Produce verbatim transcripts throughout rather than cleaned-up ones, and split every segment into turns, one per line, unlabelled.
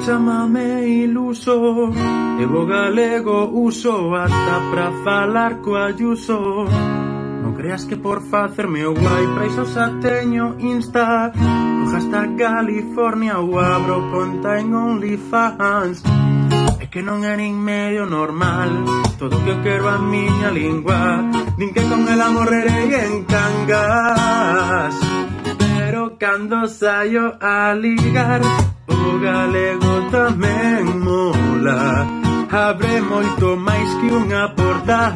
Chámame iluso, eu o galego uso ata pra falar co Ayuso. Non creas que por facerme o guai pra iso xa teño Insta. O hashtag California ou abro conta en OnlyFans. É que non é nin medio normal todo o que eu quero a miña lingua. Din que con ela morrerei en Cangas, pero cando saio a ligar o galego tamén mola. Abre moito máis que unha porta,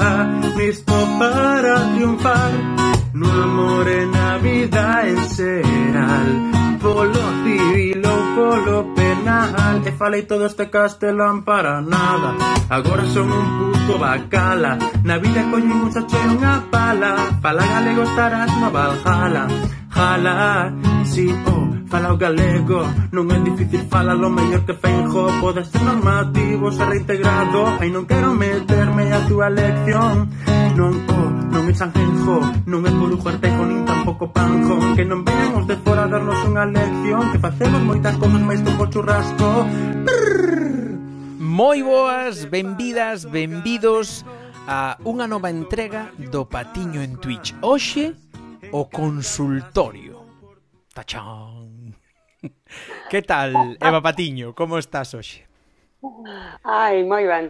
listo para triunfar no amor e na vida en xeral, polo civil ou polo penal. E falei todo este castelán para nada, agora son un puto bacala. Na vida coño un sache unha pala, fala galego estarás no Valhalla. Jala, si, oh, fala o galego, non é difícil, fala lo mellor que Feijóo. Pode ser normativo, ser reintegrado, ai non quero meterme a túa lección. Non, oh, non é Sanjenjo, non é Corujo Artejo, nin tampouco Panjón. Que non veñan os de fora a darnos unha lección, que facemos moitas cousas máis que por churrasco. Brrr.
Moi boas, benvidas, benvidos a unha nova entrega do Patiño en Twitch. Hoxe, o consultorio. Tachán. Que tal, Eva Patiño? Como estás hoxe?
Ai, moi ben.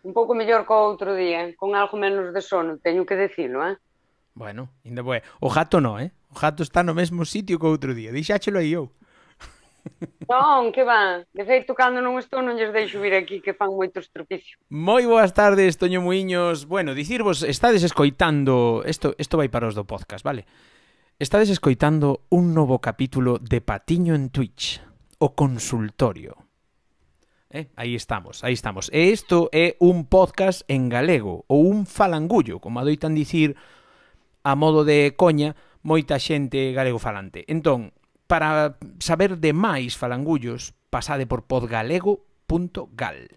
Un pouco mellor co outro día, con algo menos de sono, teño que dicilo, eh?
Bueno, ainda boa. O gato no, eh? O gato está no mesmo sitio que o outro día. Dixáchelo aí eu.
Non, que va. De feito, cando non estou non lles deixo vir aquí, que fan moito estropicio.
Moi boas tardes, Toño Muiños. Bueno, dicirvos, estades escoitando... Isto, isto vai para os do podcast, vale? Estades escoitando un novo capítulo de Patiño en Twitch, o consultorio. Eh, aí estamos, aí estamos. E isto é un podcast en galego, ou un falangullo, como adoitan dicir a modo de coña moita xente galego falante. Entón, para saber de máis falangullos, pasade por podgalego punto gal.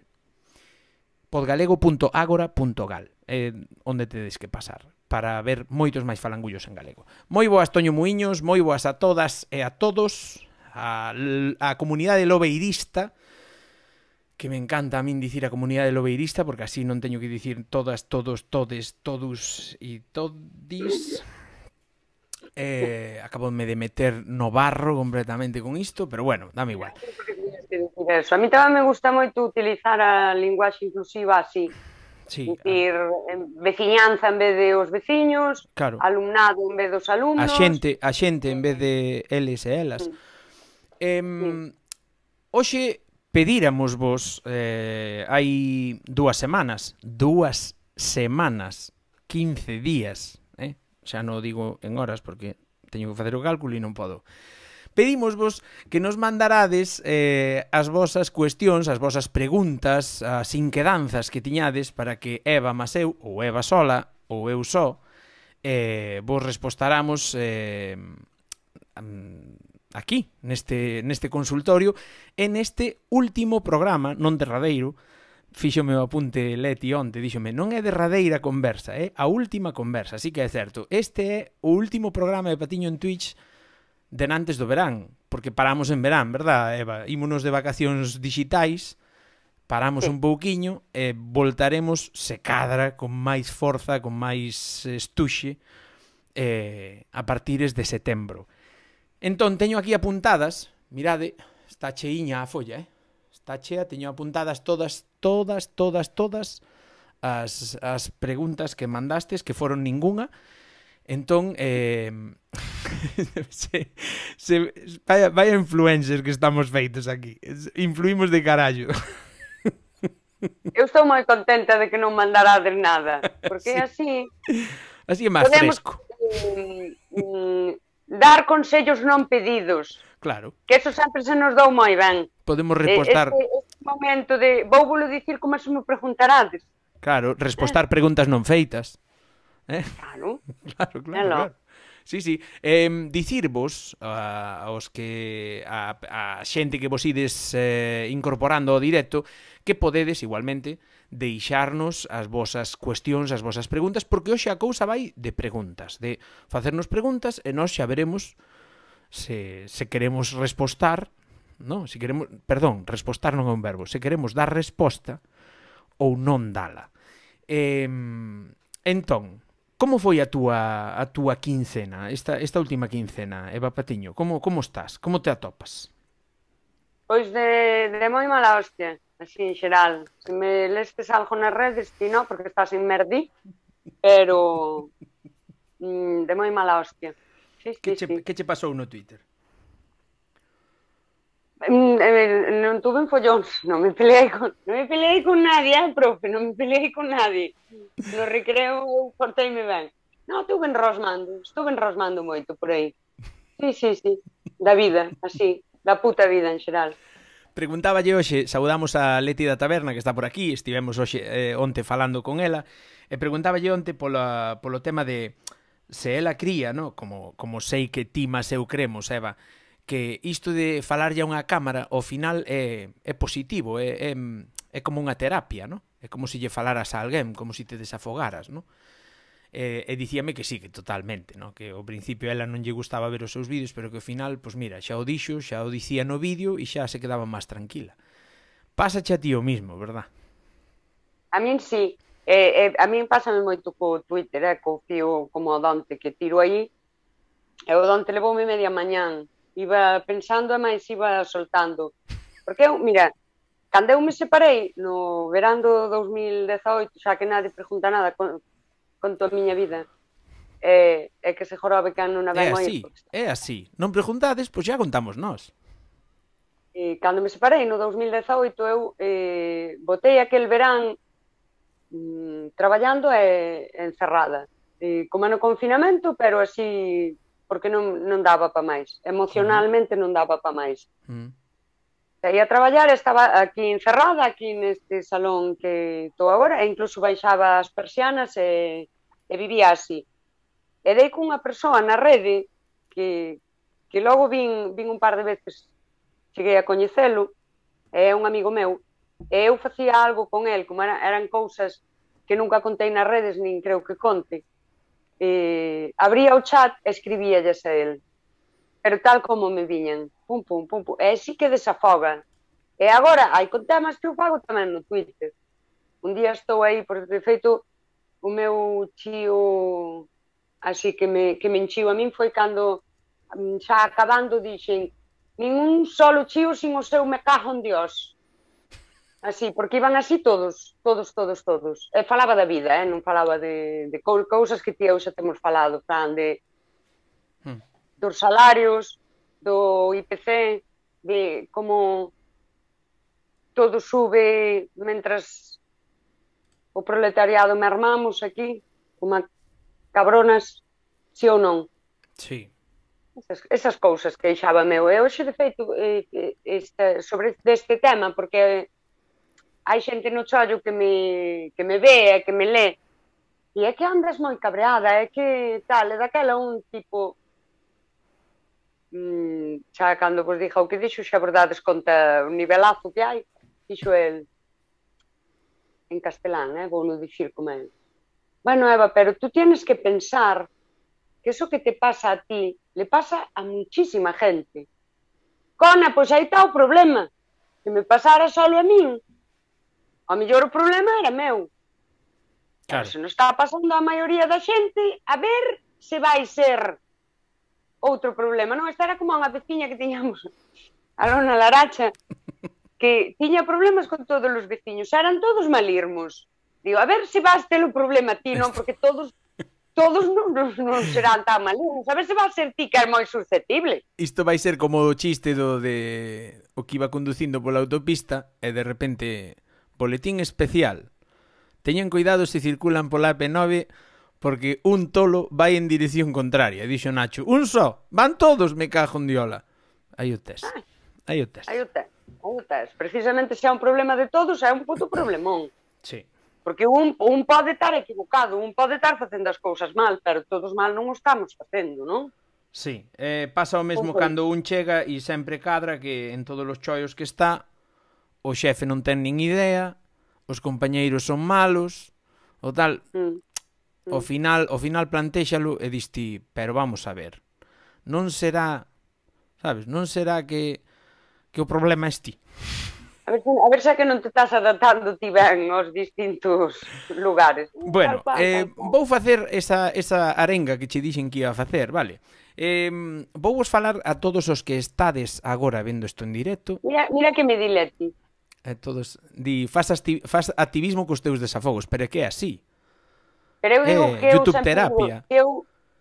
podgalego punto agora punto gal é onde tedes que pasar para ver moitos máis falangullos en galego. Moi boas, Toño Muiños, moi boas a todas e a todos, a, a comunidade lobeirista, que me encanta a min dicir a comunidade lobeirista, porque así non teño que dicir todas, todos, todes, todos e todis. Eh, acaboume de meter no barro completamente con isto, pero bueno, dame igual.
Eso. A mí tamén me gusta moito utilizar a linguaxe inclusiva así.
Sí,
dicir, veciñanza en vez de os veciños,
claro.
Alumnado en vez dos alumnos.
A xente, a xente en vez de eles e elas.
Sí.
Eh, sí. Hoxe pedíramos vos eh, hai dúas semanas, dúas semanas, quince días, eh? Xa non digo en horas porque teño que facer o cálculo e non podo. Pedímosvos que nos mandarades eh, as vosas cuestións, as vosas preguntas, as inquedanzas que tiñades para que Eva Maseu, ou Eva sola, ou eu só, eh, vos respostáramos eh, aquí, neste, neste consultorio, en este último programa, non derradeiro. Fixo meu apunte Leti onte, díxome, non é derradeira conversa, é a última conversa, así que é certo. Este é o último programa de Patiño en Twitch denantes do verán, porque paramos en verán, verdad, Eva? Ímonos de vacacións digitais, paramos un pouquiño e voltaremos se cadra con máis forza, con máis estuxe eh, a partires de setembro. Entón, teño aquí apuntadas, mirade, está cheiña a folla, eh? Está chea, teño apuntadas todas, todas, todas, todas as, as preguntas que mandastes, que foron ningunha. Entón, eh, se, se, vaya, vaya influencers que estamos feitos aquí. Influímos de carallo.
Eu estou moi contenta de que non mandarades nada, porque sí. así...
Así é máis fresco.
Um, um, dar consellos non pedidos.
Claro.
Que eso sempre se nos dou moi ben.
Podemos repostar...
Este, este momento de... Vou volo dicir como se me preguntarades.
Claro, respostar eh. preguntas non feitas. Eh?
Claro.
Claro, claro, claro. Sí, sí. Eh, dicirvos uh, aos que a, a xente que vos ides eh, incorporando ao directo que podedes igualmente deixarnos as vosas cuestións, as vosas preguntas, porque hoxe a cousa vai de preguntas, de facernos preguntas e nós xa veremos se, se queremos respostar non? Se queremos, perdón, respostar non é un verbo. Se queremos dar resposta ou non dala. Eh, entón, como foi a túa a túa quincena, esta esta última quincena, Eva Patiño? Como como estás? Como te atopas?
Pois de, de moi mala hostia, así en xeral. Se me lestes algo nas redes, ti non, porque estás en merdi, pero mm, de moi mala hostia. Sí, sí,
Que che,
sí.
que che pasou no Twitter?
Mm, eh, non tuve en follóns, non me peleei con, non me peleei con nadie, eh, profe, non me peleei con nadie. No recreo porteime ben. Non, estuve enrosmando, estuve enrosmando moito por aí. Sí, sí, sí, da vida, así, da puta vida en xeral.
Preguntáballe hoxe, saudamos a Leti da Taberna que está por aquí, estivemos hoxe eh, onte falando con ela, e preguntáballe onte pola, polo tema de se ela cría, no? como, como sei que ti mas eu cremos, Eva, que isto de falarlle a unha cámara ao final é, é positivo, é, é, é como unha terapia, no? É como se lle falaras a alguén, como se te desafogaras, no? E, e dicíame que sí, que totalmente, no? Que ao principio ela non lle gustaba ver os seus vídeos, pero que ao final, pois mira, xa o dixo, xa o dicía no vídeo e xa se quedaba máis tranquila. Pásache a ti o mismo, verdad?
A min sí, eh, eh, a min pásame moito co Twitter, eh, co fío como o Dante que tiro aí, e o Dante levoume media mañán, iba pensando e máis iba soltando. Porque eu, mira, cando eu me separei no verán do dos mil dezaoito, xa que nadie pregunta nada con, con toda a miña vida, é, é que se jorobe que non a
É
ben moi...
así, é así. Non preguntades, pois xa contamos nós.
E cando me separei no dos mil dezaoito, eu eh, botei aquel verán mm, traballando e encerrada. E, como no confinamento, pero así... porque non, non daba pa máis. Emocionalmente non daba pa máis.
Mm.
Saía a traballar, estaba aquí encerrada, aquí neste salón que estou agora, e incluso baixaba as persianas e, e vivía así. E dei cunha persoa na rede que, que logo vin, vin un par de veces, cheguei a coñecelo, é un amigo meu, e eu facía algo con el, como era, eran cousas que nunca contei nas redes, nin creo que conte. Eh, abría o chat e escribíalles a el, pero tal como me viñan, pum, pum, pum, pum, e así que desafoga. E agora, hai con temas que eu fago tamén no Twitter. Un día estou aí, por de feito, o meu chío así que me, que me enchiu a min foi cando, xa acabando, dixen, nin un solo chío sin o seu me cajo en Dios. Así, porque iban así todos, todos, todos, todos. E falaba da vida, eh? Non falaba de, de cousas que ti eu xa temos falado, Fran, de hmm. dos salarios, do I P C, de como todo sube mentras o proletariado mermamos aquí, como cabronas, si ou non.
Sí.
Esas, esas cousas que deixaba meu. E hoxe, de feito, eh, este, sobre deste tema, porque hai xente no chollo que me, que me ve, que me lé, e é que andas moi cabreada, é que tal, é daquela un tipo, mmm, xa cando vos dixa o que dixo, xa verdades conta o nivelazo que hai, dixo el, en castelán, eh, vou non dicir como é. Bueno, Eva, pero tú tienes que pensar que eso que te pasa a ti, le pasa a muchísima gente. Cona, pois aí está o problema, que me pasara solo a min. Ao mellor o problema era meu. Claro. Se non está pasando a maioría da xente, a ver se vai ser outro problema. Non, esta era como unha veciña que tiñamos a Lona Laracha, que tiña problemas con todos os veciños. Eran todos malirmos. Digo, a ver se vas ter o problema ti, non? Porque todos todos non, non, non serán tan malirmos. A ver se vas ser ti que é moi susceptible.
Isto vai ser como o chiste do de o que iba conducindo pola autopista e de repente... Boletín especial. Teñan cuidado se circulan pola A P nove porque un tolo vai en dirección contraria. Dixo Nacho. Un só. Van todos, me cajo en diola. Aí o tes. Aí o tes.
Aí o tes. Aí o tes. Precisamente se é un problema de todos, é un puto problemón.
Sí.
Porque un, un pode estar equivocado, un pode estar facendo as cousas mal, pero todos mal non o estamos facendo, non?
Sí. Eh, pasa o mesmo cando un chega e sempre cadra que en todos os chollos que está... O xefe non ten nin idea, os compañeiros son malos, o tal, mm. Mm. ao final, ao final plantéxalo e diste, pero vamos a ver, non será, sabes, non será que que o problema es ti.
A ver, a ver se que non te estás adaptando ti ben aos distintos lugares.
Bueno,
Tal cual,
eh,
tal cual.
vou facer esa, esa arenga que che dixen que ia a facer, vale? Eh, vou vos falar a todos os que estades agora vendo isto en directo.
Mira, mira que me dileti.
Eh, todos, di, faz, asti, faz activismo cos teus desafogos, pero é que é así.
Pero eu digo
Eh,
que eu
YouTube
sempre
terapia.
digo, que eu,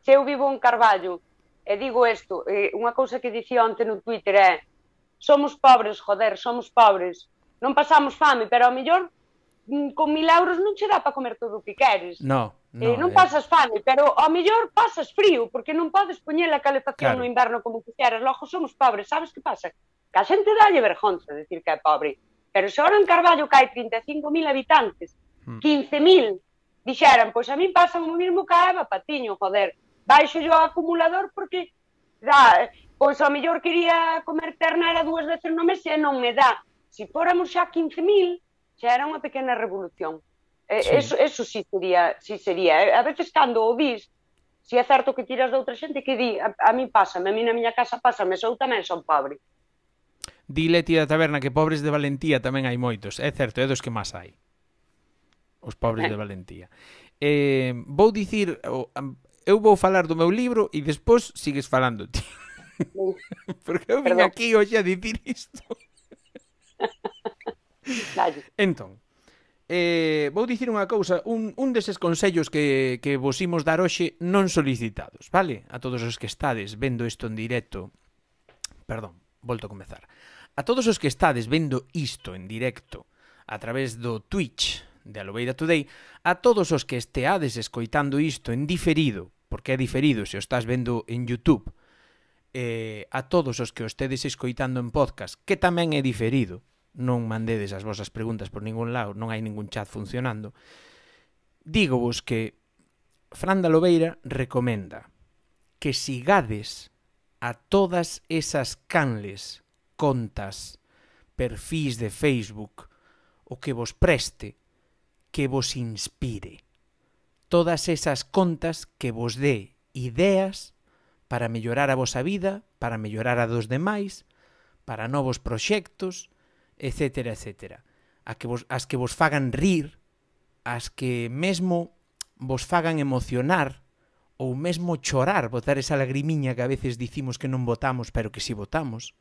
se eu vivo en Carballo e digo isto, eh, unha cousa que dicía onte no Twitter é: somos pobres, joder, somos pobres, non pasamos fame, pero ao mellor mm, con mil euros non che dá para comer todo o que queres.
No, no.
Eh, non
eh,
pasas fame, pero ao mellor pasas frío, porque non podes poñer a calefacción
Claro.
no inverno como quixeras. Logo somos pobres, sabes que pasa? Que a xente dalle vergonza decir que é pobre. Pero se ahora en Carballo que hai trinta e cinco mil habitantes,
Hmm.
quince mil dixeran, pois a min pasa o mesmo que a Eva Patiño, joder, baixo yo o acumulador porque dá, pois ao mellor quería comer ternera dúas veces no mes e non me dá. Se fóramos xa quince mil, xa era unha pequena revolución. Eh,
Sí.
Eso, eso sí sería, sí sería. A veces cando o vis, si é certo que tiras de outra xente que di, a, a mí pásame, a mí na miña casa pásame, sou tamén son pobre.
Di Leti da Taberna que pobres de valentía tamén hai moitos. É certo, é dos que máis hai. Os pobres de valentía. Eh, vou dicir, o- am- eu vou falar do meu libro e despois sigues falando ti. Porque eu vim
Perdón.
aquí hoxe a dicir isto.
Dalle.
Entón, eh, vou dicir unha cousa, un, un deses consellos que, que vos imos dar hoxe non solicitados, vale? A todos os que estades vendo isto en directo. Perdón, volto a comezar. A todos os que estades vendo isto en directo a través do Twitch de Alobeira Today, a todos os que esteades escoitando isto en diferido, porque é diferido se o estás vendo en YouTube, eh, a todos os que o estedes escoitando en podcast, que tamén é diferido, non mandedes as vosas preguntas por ningún lado, non hai ningún chat funcionando, dígovos que Fran de Alobeira recomenda que sigades a todas esas canles, contas, perfís de Facebook, o que vos preste, que vos inspire. Todas esas contas que vos dé ideas para mellorar a vosa vida, para mellorar a dos demais, para novos proxectos, etcétera, etcétera. A que vos, as que vos fagan rir, as que mesmo vos fagan emocionar, ou mesmo chorar, botar esa lagrimiña que a veces dicimos que non votamos, pero que si votamos.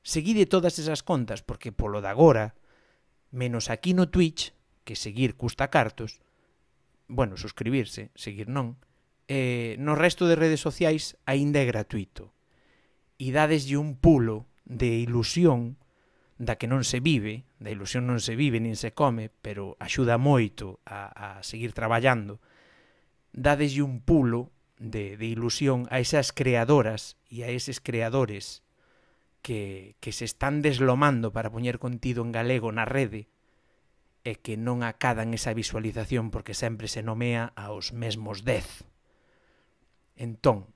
Seguide todas esas contas, porque polo de agora, menos aquí no Twitch, que seguir custa cartos, bueno, suscribirse, seguir non, eh, no resto de redes sociais aínda é gratuito. E dadeslle un pulo de ilusión da que non se vive, da ilusión non se vive nin se come, pero axuda moito a, a seguir traballando. Dadeslle un pulo de, de ilusión a esas creadoras e a eses creadores que, que se están deslomando para poñer contido en galego na rede e que non acadan esa visualización porque sempre se nomea aos mesmos dez. Entón,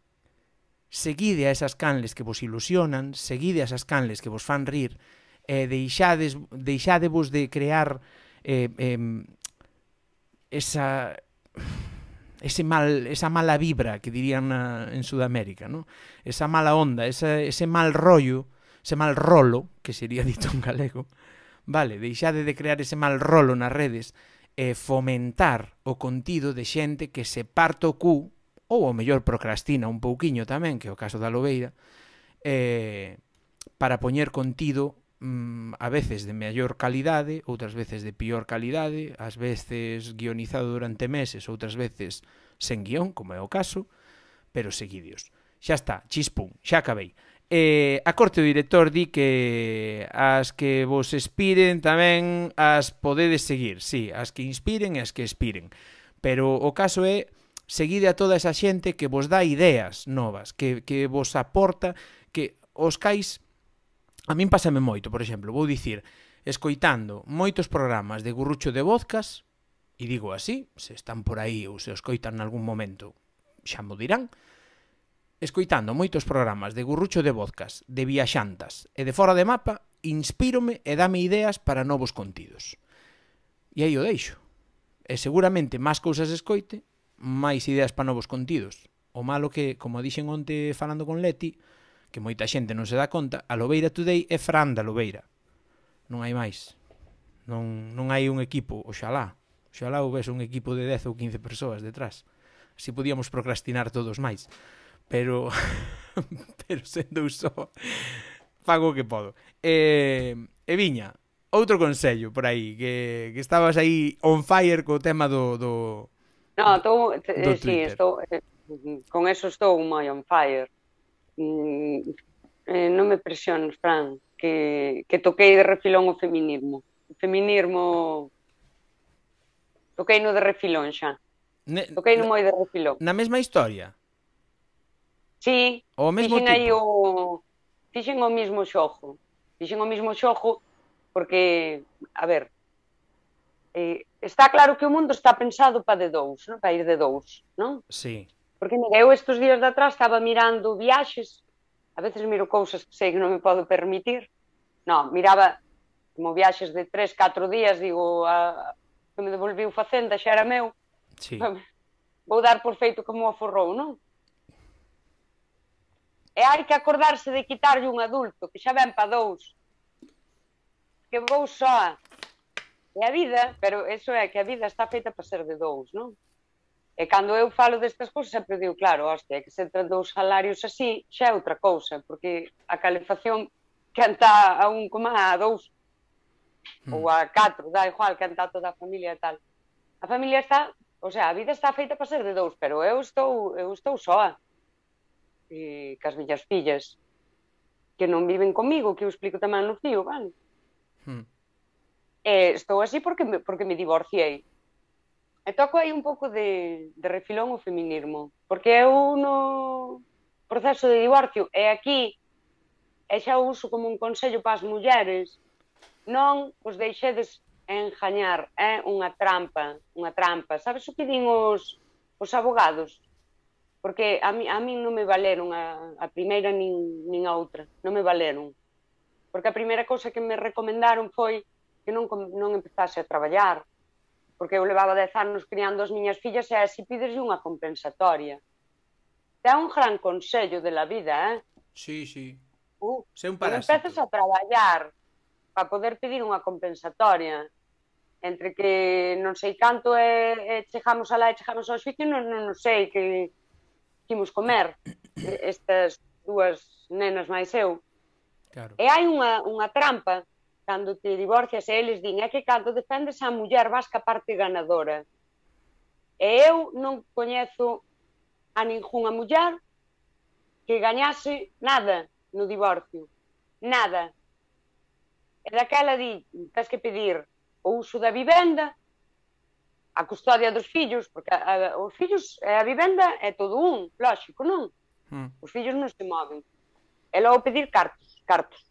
seguide a esas canles que vos ilusionan, seguide a esas canles que vos fan rir, e deixades, deixadevos de crear eh, eh, esa ese mal, esa mala vibra que dirían na, en Sudamérica, ¿no? Esa mala onda, esa, ese mal rollo, ese mal rolo, que sería dito en galego, vale, deixade de crear ese mal rolo nas redes e fomentar o contido de xente que se parta o cu, ou ao mellor procrastina un pouquiño tamén, que é o caso da Alobeira, eh, para poñer contido mm, a veces de mellor calidade, outras veces de pior calidade, ás veces guionizado durante meses, outras veces sen guión, como é o caso, pero seguidios. Xa está, chispum, xa acabei. Eh, a corte do director di que as que vos expiren tamén as podedes seguir, sí, as que inspiren e as que expiren, pero o caso é seguide a toda esa xente que vos dá ideas novas, que, que vos aporta, que os cais, a min pásame moito, por exemplo, vou dicir, escoitando moitos programas de Gurrucho de Vodkas, e digo así, se están por aí ou se os coitan nalgún momento, xa mo dirán, escoitando moitos programas de Gurrucho de Vodkas, de viaxantas e de fora de mapa, inspírome e dame ideas para novos contidos. E aí o deixo. E seguramente máis cousas escoite, máis ideas para novos contidos. O malo que, como dixen onte falando con Leti, que moita xente non se dá conta, a Lobeira Today é Fran da Lobeira. Non hai máis. Non, non hai un equipo, oxalá. Oxalá houvese un equipo de dez ou quince persoas detrás. Así podíamos procrastinar todos máis. Pero, pero sendo só, fago o que podo. E, e viña, outro consello por aí, que, que estabas aí on fire co tema do... do
no, estou,
do
sí, estou, con eso estou moi on fire. Mm, eh, non me presiones, Fran, que, que toquei de refilón o feminismo. O feminismo... Toquei no de refilón xa. Ne, Toquei no moi de refilón.
Na mesma historia?
Sí,
o mesmo
fixen
tipo?
aí o... Fixen o mismo xogo. Fixen o mismo xogo porque, a ver, eh, está claro que o mundo está pensado para de dous, non? Para ir de dous, non?
Sí.
Porque mira, eu estes días de atrás estaba mirando viaxes, a veces miro cousas que sei que non me podo permitir. Non, miraba como viaxes de tres, catro días, digo, a... que me devolviu Facenda, xa era meu,
sí.
Vou dar por feito como o aforrou, non? E hai que acordarse de quitarlle un adulto, que xa ven pa dous, que vou soa. E a vida, pero eso é que a vida está feita para ser de dous, non? E cando eu falo destas cousas sempre digo, claro, hostia, que se entran dous salarios así, xa é outra cousa, porque a calefacción que anta a un coma a dous, ou a catro, dá igual, que anta toda a familia e tal. A familia está, o sea, a vida está feita para ser de dous, pero eu estou, eu estou soa. E cas miñas fillas, que non viven comigo, que eu explico tamén no fío, vale? Hmm. E estou así porque me, porque me divorciei. E toco aí un pouco de, de refilón o feminismo, porque eu no proceso de divorcio, e aquí, e xa o uso como un consello para as mulleres, non os deixedes engañar, é unha trampa, unha trampa. Sabes o que din os, os abogados? Porque a mí, a mí non me valeron a, a primeira nin, nin a outra, non me valeron. Porque a primeira cousa que me recomendaron foi que non, non empezase a traballar, porque eu levaba dez anos criando as miñas fillas e así pideslle unha compensatoria. É un gran consello de la vida, eh?
Sí, sí.
Uh,
Sé un
non
parásito.
empeces a traballar para poder pedir unha compensatoria, entre que non sei canto e, e chegamos alá e chegamos ao xuicio, non, non, non sei que imos comer estas dúas nenas máis eu.
Claro.
E hai unha, unha trampa cando te divorcias e eles din, é que cando defendes a muller vas ca parte ganadora. E eu non coñezo a ningunha muller que gañase nada no divorcio. Nada. E daquela di, tens que pedir o uso da vivenda, a custodia dos fillos, porque a, a, os fillos e a vivenda é todo un, lógico, non? Hmm. Os fillos non se moven. E logo pedir cartos, cartos.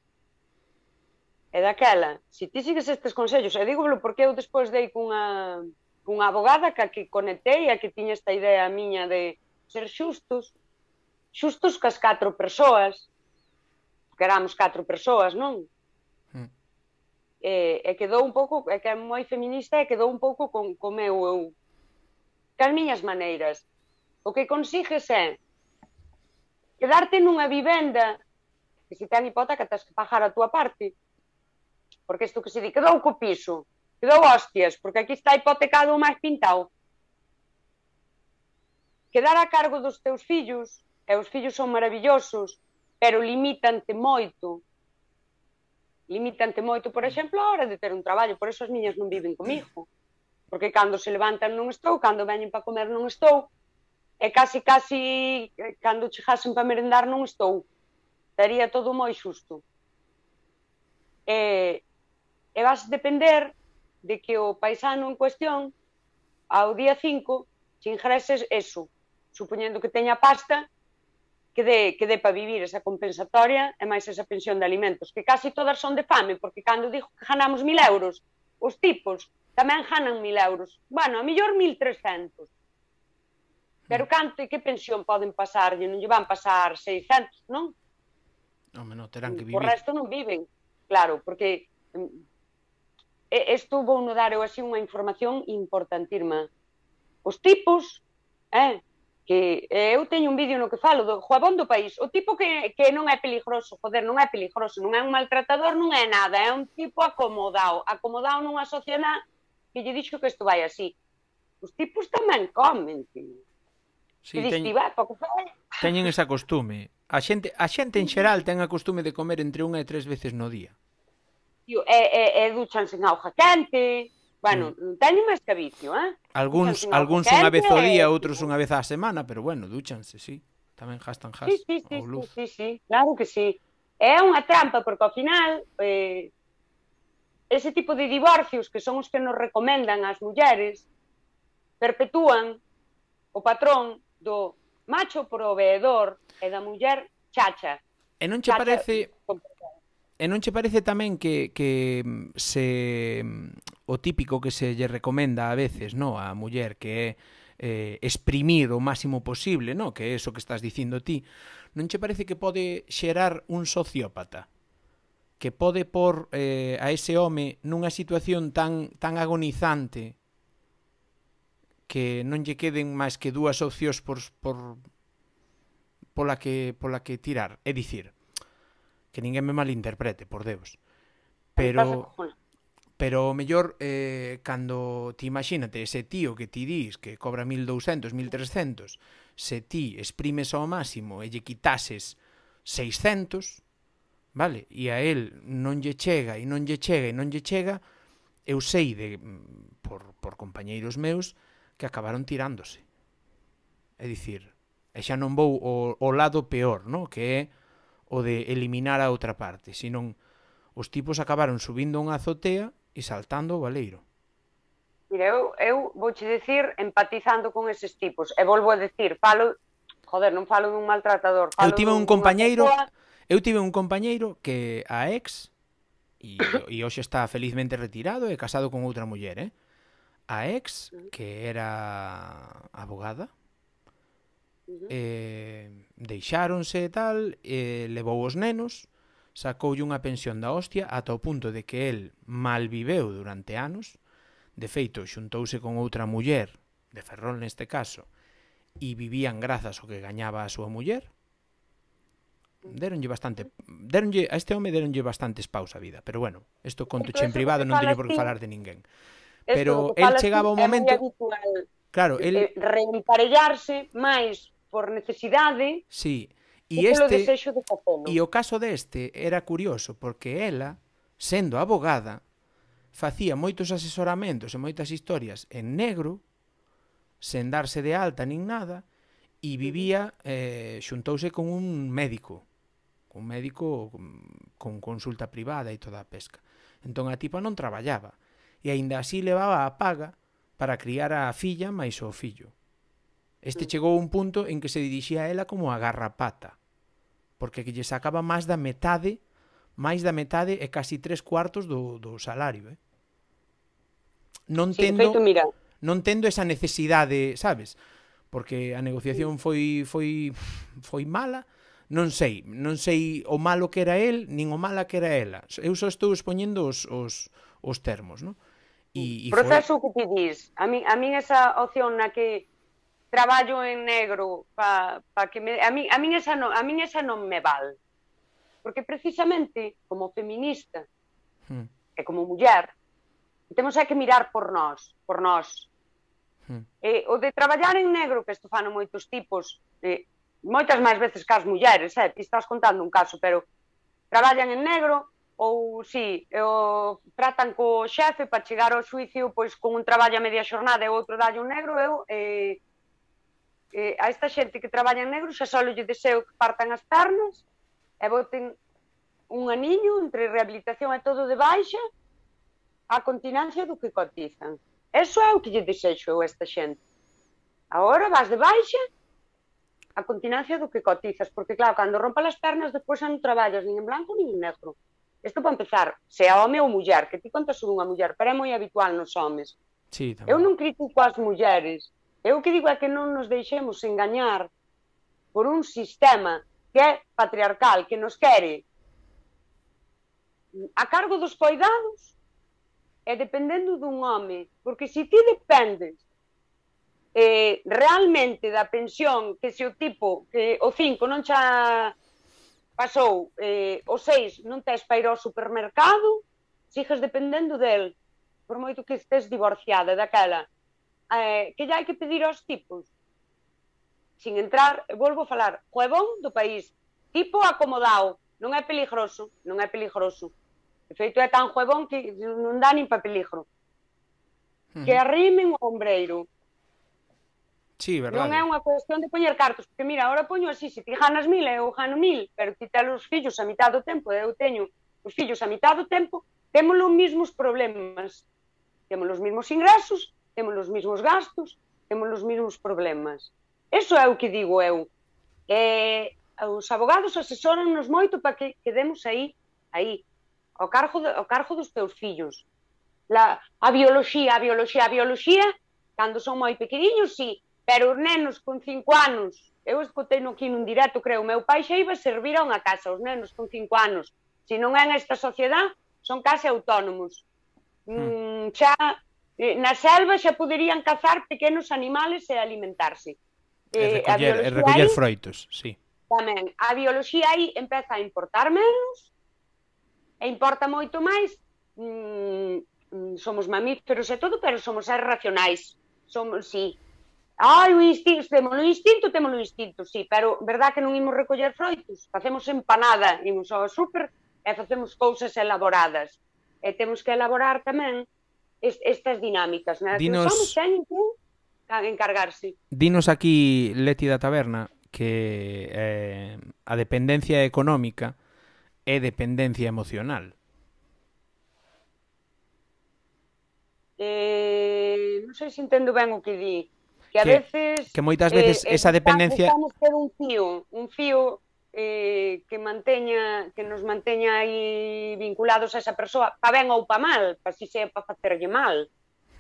E daquela, se ti sigues estes consellos, e dígolo porque eu despois dei cunha, cunha abogada que a que conectei, a que tiña esta idea miña de ser xustos, xustos cas catro persoas, que éramos catro persoas, non? Hmm. E, e quedou un pouco, é que é moi feminista e quedou un pouco con, con meu eu, cas miñas maneiras. O que consigues é quedarte nunha vivenda que se ten hipoteca tens que pagar a túa parte, porque isto que se di, quedou co piso, quedou hostias, porque aquí está hipotecado o máis pintado. Quedar a cargo dos teus fillos, e os fillos son maravillosos, pero limítante moito. Limítante moito, por exemplo, a hora de ter un traballo. Por eso as niñas non viven comigo. Porque cando se levantan non estou, cando veñen para comer non estou, e casi, casi, cando chegasen para merendar non estou. Estaría todo moi xusto. E, e vas depender de que o paisano en cuestión, ao día cinco, se ingreses eso, supoñendo que teña pasta, que dé, que dé para vivir esa compensatoria e máis esa pensión de alimentos, que casi todas son de fame, porque cando digo que ganamos mil euros, os tipos tamén ganan mil euros. Bueno, a millor mil trescentos. Pero canto e que pensión poden pasarlle? Non lle van pasar seiscentos, non?
Home, non, terán que vivir.
O resto non viven. Claro, porque isto vou no dar eu así unha información importantísima. Os tipos, eh, que eu teño un vídeo no que falo do Juabón do País, o tipo que, que non é peligroso, joder, non é peligroso, non é un maltratador, non é nada, é un tipo acomodado, acomodado nunha sociedade que lle dixo que isto vai así. Os tipos tamén comen, tío.
Sí,
que
teñ,
dixi, vai, porque fai...
teñen esa costume. A xente, a xente en xeral ten a costume de comer entre unha e tres veces no día.
Tío, e, e, e duchan sen auga quente, bueno, mm. teñen máis que vicio, eh?
Algúns, algúns unha vez ao día, outros unha vez á semana, pero bueno, dúchanse, sí. Tamén gastan gas
sí, sí, sí,
ou luz.
Sí, sí, sí, claro que sí. É unha trampa, porque ao final, eh, ese tipo de divorcios, que son os que nos recomendan as mulleres, perpetúan o patrón do macho proveedor e da muller chacha.
E non che
chacha,
parece... E non che parece tamén que, que se o típico que se lle recomenda a veces, no, a muller, que é eh, exprimir o máximo posible, no, que é eso que estás dicindo ti, non che parece que pode xerar un sociópata? Que pode por eh, a ese home nunha situación tan tan agonizante que non lle queden máis que dúas opcións por, por pola que pola que tirar, é dicir, que ninguén me malinterprete, por Deus. Pero pero o mellor eh, cando ti imagínate ese tío que ti dis que cobra mil douscentos, mil trescentos, se ti exprimes ao máximo e lle quitases seiscentos, vale? E a él non lle chega e non lle chega e non lle chega, eu sei de por por compañeiros meus que acabaron tirándose. É dicir, e xa non vou o, o lado peor, no? Que é o de eliminar a outra parte, senón os tipos acabaron subindo unha azotea e saltando o baleiro.
Mira, eu, eu vouche decir empatizando con eses tipos, e volvo a decir, falo, joder, non falo dun maltratador, falo
eu tive un
dun,
compañeiro,
persoa...
eu tive un compañeiro que a ex, e, e hoxe está felizmente retirado e casado con outra muller, eh? A ex, que era abogada, Uh-huh. Eh, deixáronse e tal, eh, levou os nenos, sacoulle unha pensión da hostia ata o punto de que el malviveu durante anos. De feito, xuntouse con outra muller, de Ferrol neste caso, e vivían grazas ao que gañaba a súa muller. Deronlle bastante, deronlle, a este home deronlle bastantes paus a vida, pero bueno, isto contoche en privado, non teño por que falar de ninguén. Pero el chegaba o momento, claro, el
reemparellarse máis por necesidade,
sí, e
este
de
e
o caso deste era curioso porque ela, sendo abogada, facía moitos asesoramentos e moitas historias en negro, sen darse de alta nin nada, e vivía, eh, xuntouse con un médico, un médico con consulta privada e toda a pesca. Entón a tipa non traballaba, e aínda así levaba a paga para criar a filla máis o fillo. Este chegou a un punto en que se dirixía a ela como a garrapata, porque que lle sacaba máis da metade, máis da metade e casi tres cuartos do, do salario, eh? Non tendo,
sí, feito, mira.
non tendo esa necesidade, sabes? Porque a negociación foi foi foi mala, non sei, non sei o malo que era el, nin o mala que era ela. Eu só estou expoñendo os, os, os termos, non?
E, e proceso foi... que ti dis, a min, a min esa opción na que traballo en negro pa, pa que me, a min, a min esa non, a min esa non me val. Porque precisamente como feminista hmm. e como muller temos que mirar por nós, por nós. Hmm. E, o de traballar en negro, que isto fan moitos tipos, eh, moitas máis veces que as mulleres, eh, ti estás contando un caso, pero traballan en negro ou si, o tratan co xefe para chegar ao xuicio pois con un traballo a media xornada e outro dalle un negro, eu eh, eh, a esta xente que traballa en negro xa só lle deseo que partan as pernas e boten un aniño entre rehabilitación e todo de baixa a continencia do que cotizan. Eso é o que lle desexo a esta xente. Agora vas de baixa a continencia do que cotizas, porque claro, cando rompa as pernas despois xa non traballas nin en blanco nin en negro. Isto para empezar, se a home ou muller, que ti contas unha muller, pero é moi habitual nos homes.
Sí,
eu non critico as mulleres, eu o que digo é que non nos deixemos engañar por un sistema que é patriarcal, que nos quere a cargo dos coidados e dependendo dun home, porque se ti dependes eh, realmente da pensión, que se o tipo, que o cinco non xa pasou, eh, o seis non tes para ir ao supermercado, sigues dependendo del, por moito que estés divorciada daquela. Eh, que ya hai que pedir aos tipos? Sin entrar, volvo a falar, juebón do país, tipo acomodado, non é peligroso, non é peligroso. De feito, é tan juebón que non dá nin pa peligro. Uh-huh. Que arrimen o ombreiro.
Sí, verdade.
Non é unha cuestión de poñer cartos, porque mira, agora poño así, se ti ganas mil, eu gano mil, pero ti tes os fillos a mitad do tempo, eu teño os fillos a mitad do tempo, temos os mesmos problemas, temos os mesmos ingresos, temos os mesmos gastos, temos os mesmos problemas. Eso é o que digo eu. Eh, os abogados asesoran-nos moito para que quedemos aí, aí, ao cargo, de, ao cargo dos teus fillos. La, a bioloxía, a bioloxía, a bioloxía, cando son moi pequeniños, sí, pero os nenos con cinco anos, eu escutei no aquí nun directo, creo, meu pai xa iba a servir a unha casa, os nenos con cinco anos, se non é nesta sociedade, son case autónomos. Mm, xa, na selva xa poderían cazar pequenos animales e alimentarse.
E recoller, e recoller froitos, sí.
Tamén, a bioloxía aí empeza a importar menos, e importa moito máis, mm, somos mamíferos e todo, pero somos seres racionais, somos, sí. Ai, o instinto, temos o instinto, temos o instinto, sí, pero verdad que non imos recoller froitos, facemos empanada, imos ao súper e facemos cousas elaboradas. E temos que elaborar tamén est estas dinámicas, né?
Dinos...
Que somos teñen que encargarse.
Dinos aquí, Leti da Taberna, que eh, a dependencia económica é dependencia emocional.
Eh, non sei se entendo ben o que di. Que a
que,
veces...
Que moitas veces
eh,
esa dependencia...
Estamos ter un fío, un fío eh, que manteña, que nos manteña aí vinculados a esa persoa, pa ben ou pa mal, pa si sea pa facerlle mal.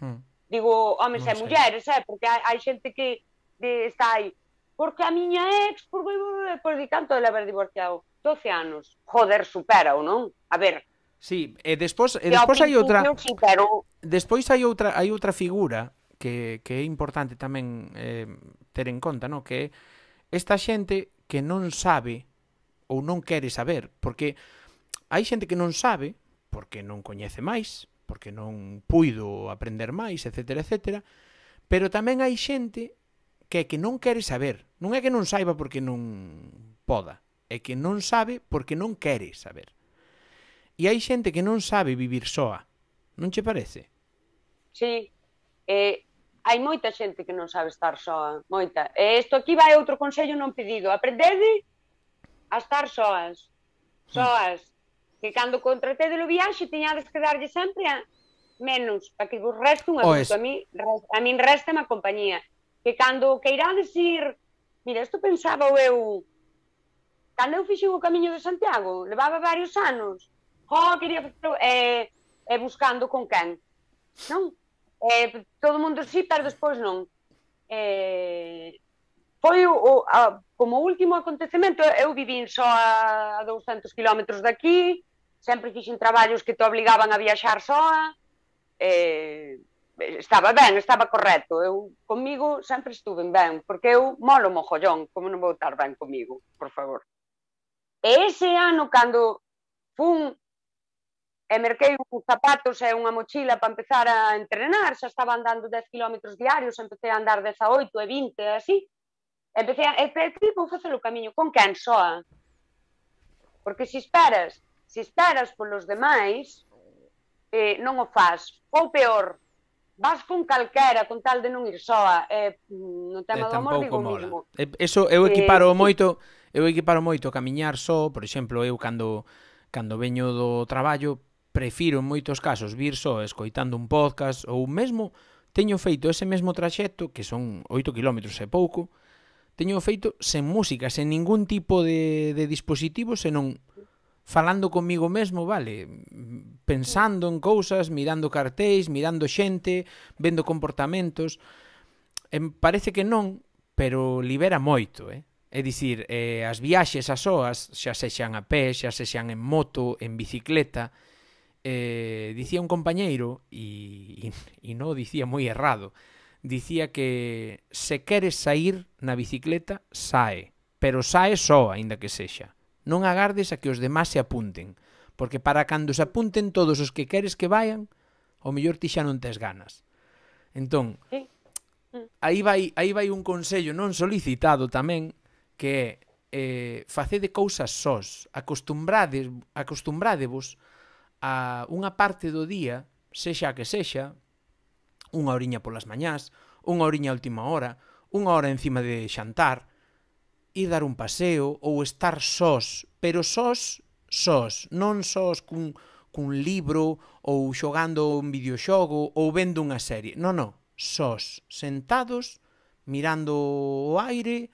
Hmm. Digo, homes e mulleres, eh, porque hai, hai xente que de, está aí, porque a miña ex, por, por de tanto de haber divorciado, doce anos. Joder, supera ou non? A ver...
Sí, e despois, e despois hai outra...
Sí, pero...
Despois hai outra, hai outra figura que, que é importante tamén eh, ter en conta, no? Que é esta xente que non sabe ou non quere saber, porque hai xente que non sabe, porque non coñece máis, porque non puido aprender máis, etcétera, etcétera, pero tamén hai xente que é que non quere saber, non é que non saiba porque non poda, é que non sabe porque non quere saber. E hai xente que non sabe vivir soa, non che parece?
Sí, eh, hai moita xente que non sabe estar soa, moita. E isto aquí vai outro consello non pedido, aprendede a estar soas, soas, mm. que cando contratedes o viaxe tiñades que darlle sempre a menos, para que vos reste un adulto, a mí, a min resta a compañía, que cando queirades ir, mira, isto pensaba eu, cando eu fixen o Camiño de Santiago, levaba varios anos, oh, quería facer, eh, eh, buscando con quen, non? Eh, todo o mundo sí, pero despois non. Eh, foi o, o, a, como último acontecemento, eu vivín só a douscentos kilómetros daqui, sempre fixen traballos que te obligaban a viaxar soa, eh, estaba ben, estaba correcto, eu comigo sempre estuve ben, porque eu molo mojollón, como non vou estar ben comigo, por favor. E ese ano, cando fun e merquei uns zapatos e unha mochila para empezar a entrenar, xa estaba andando dez kilómetros diarios, empecé a andar dezaoito e vinte, así. Empecé a... E que vou facer o camiño? Con quen soa? Porque se esperas, se esperas polos demais, eh, non o faz. Ou peor, vas con calquera, con tal de non ir soa. Eh, no tema do amor digo mismo.
Eso eu equiparo eh, moito, eu equiparo moito camiñar só, por exemplo, eu cando, cando veño do traballo, prefiro en moitos casos vir só escoitando un podcast ou mesmo teño feito ese mesmo traxecto, que son oito kilómetros e pouco, teño feito sen música, sen ningún tipo de, de dispositivo, senón falando comigo mesmo, vale, pensando en cousas, mirando cartéis, mirando xente, vendo comportamentos. Em parece que non, pero libera moito, eh? É dicir, eh, as viaxes as soas, xa sexan a pé, xa sexan en moto, en bicicleta, eh, dicía un compañeiro, e, e, e non dicía moi errado, dicía que se queres sair na bicicleta, sae, pero sae só, aínda que sexa. Non agardes a que os demás se apunten, porque para cando se apunten todos os que queres que vayan, ao mellor ti xa non tes ganas. Entón, aí vai, aí vai un consello non solicitado tamén, que é eh, facede cousas sós, acostumbrades, acostumbrádevos a unha parte do día, sexa que sexa, unha horiña polas mañás, unha horiña a última hora, unha hora encima de xantar, ir dar un paseo ou estar sós, pero sós, sós, non sós cun, cun libro ou xogando un videoxogo ou vendo unha serie. Non, non, sós, sentados, mirando o aire,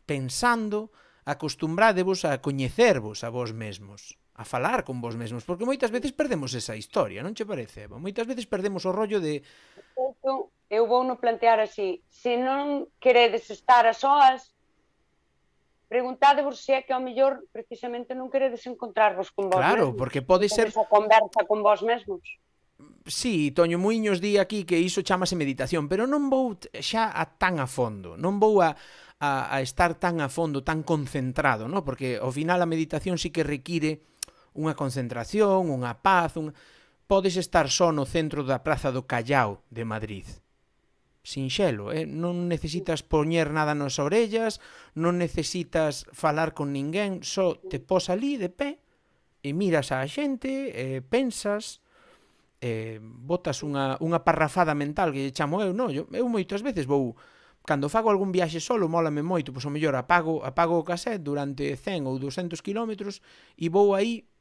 pensando, acostumbrádevos a coñecervos a vos mesmos, a falar con vos mesmos, porque moitas veces perdemos esa historia, non che parece, Eva? Moitas veces perdemos o rollo de...
Eu vou no plantear así, se non queredes estar a soas, preguntádevos se é que ao mellor precisamente non queredes encontrarvos con vos
claro,
mesmos.
Claro, porque pode ser...
Esa conversa con vos mesmos.
Sí, Toño Muiños di aquí que iso chamase meditación, pero non vou xa a tan a fondo, non vou a, a, a estar tan a fondo, tan concentrado, ¿no? Porque ao final a meditación sí que require unha concentración, unha paz, un... podes estar só no centro da Praza do Callao de Madrid. Sinxelo, eh? Non necesitas poñer nada nas orellas, non necesitas falar con ninguén, só te pos ali de pé e miras á xente, e pensas... Eh, botas unha, unha parrafada mental que lle chamo eu, non, eu, eu moitas veces vou, cando fago algún viaxe solo, mólame moito, pois o mellor apago, apago o cassette durante cen ou ducentos kilómetros e vou aí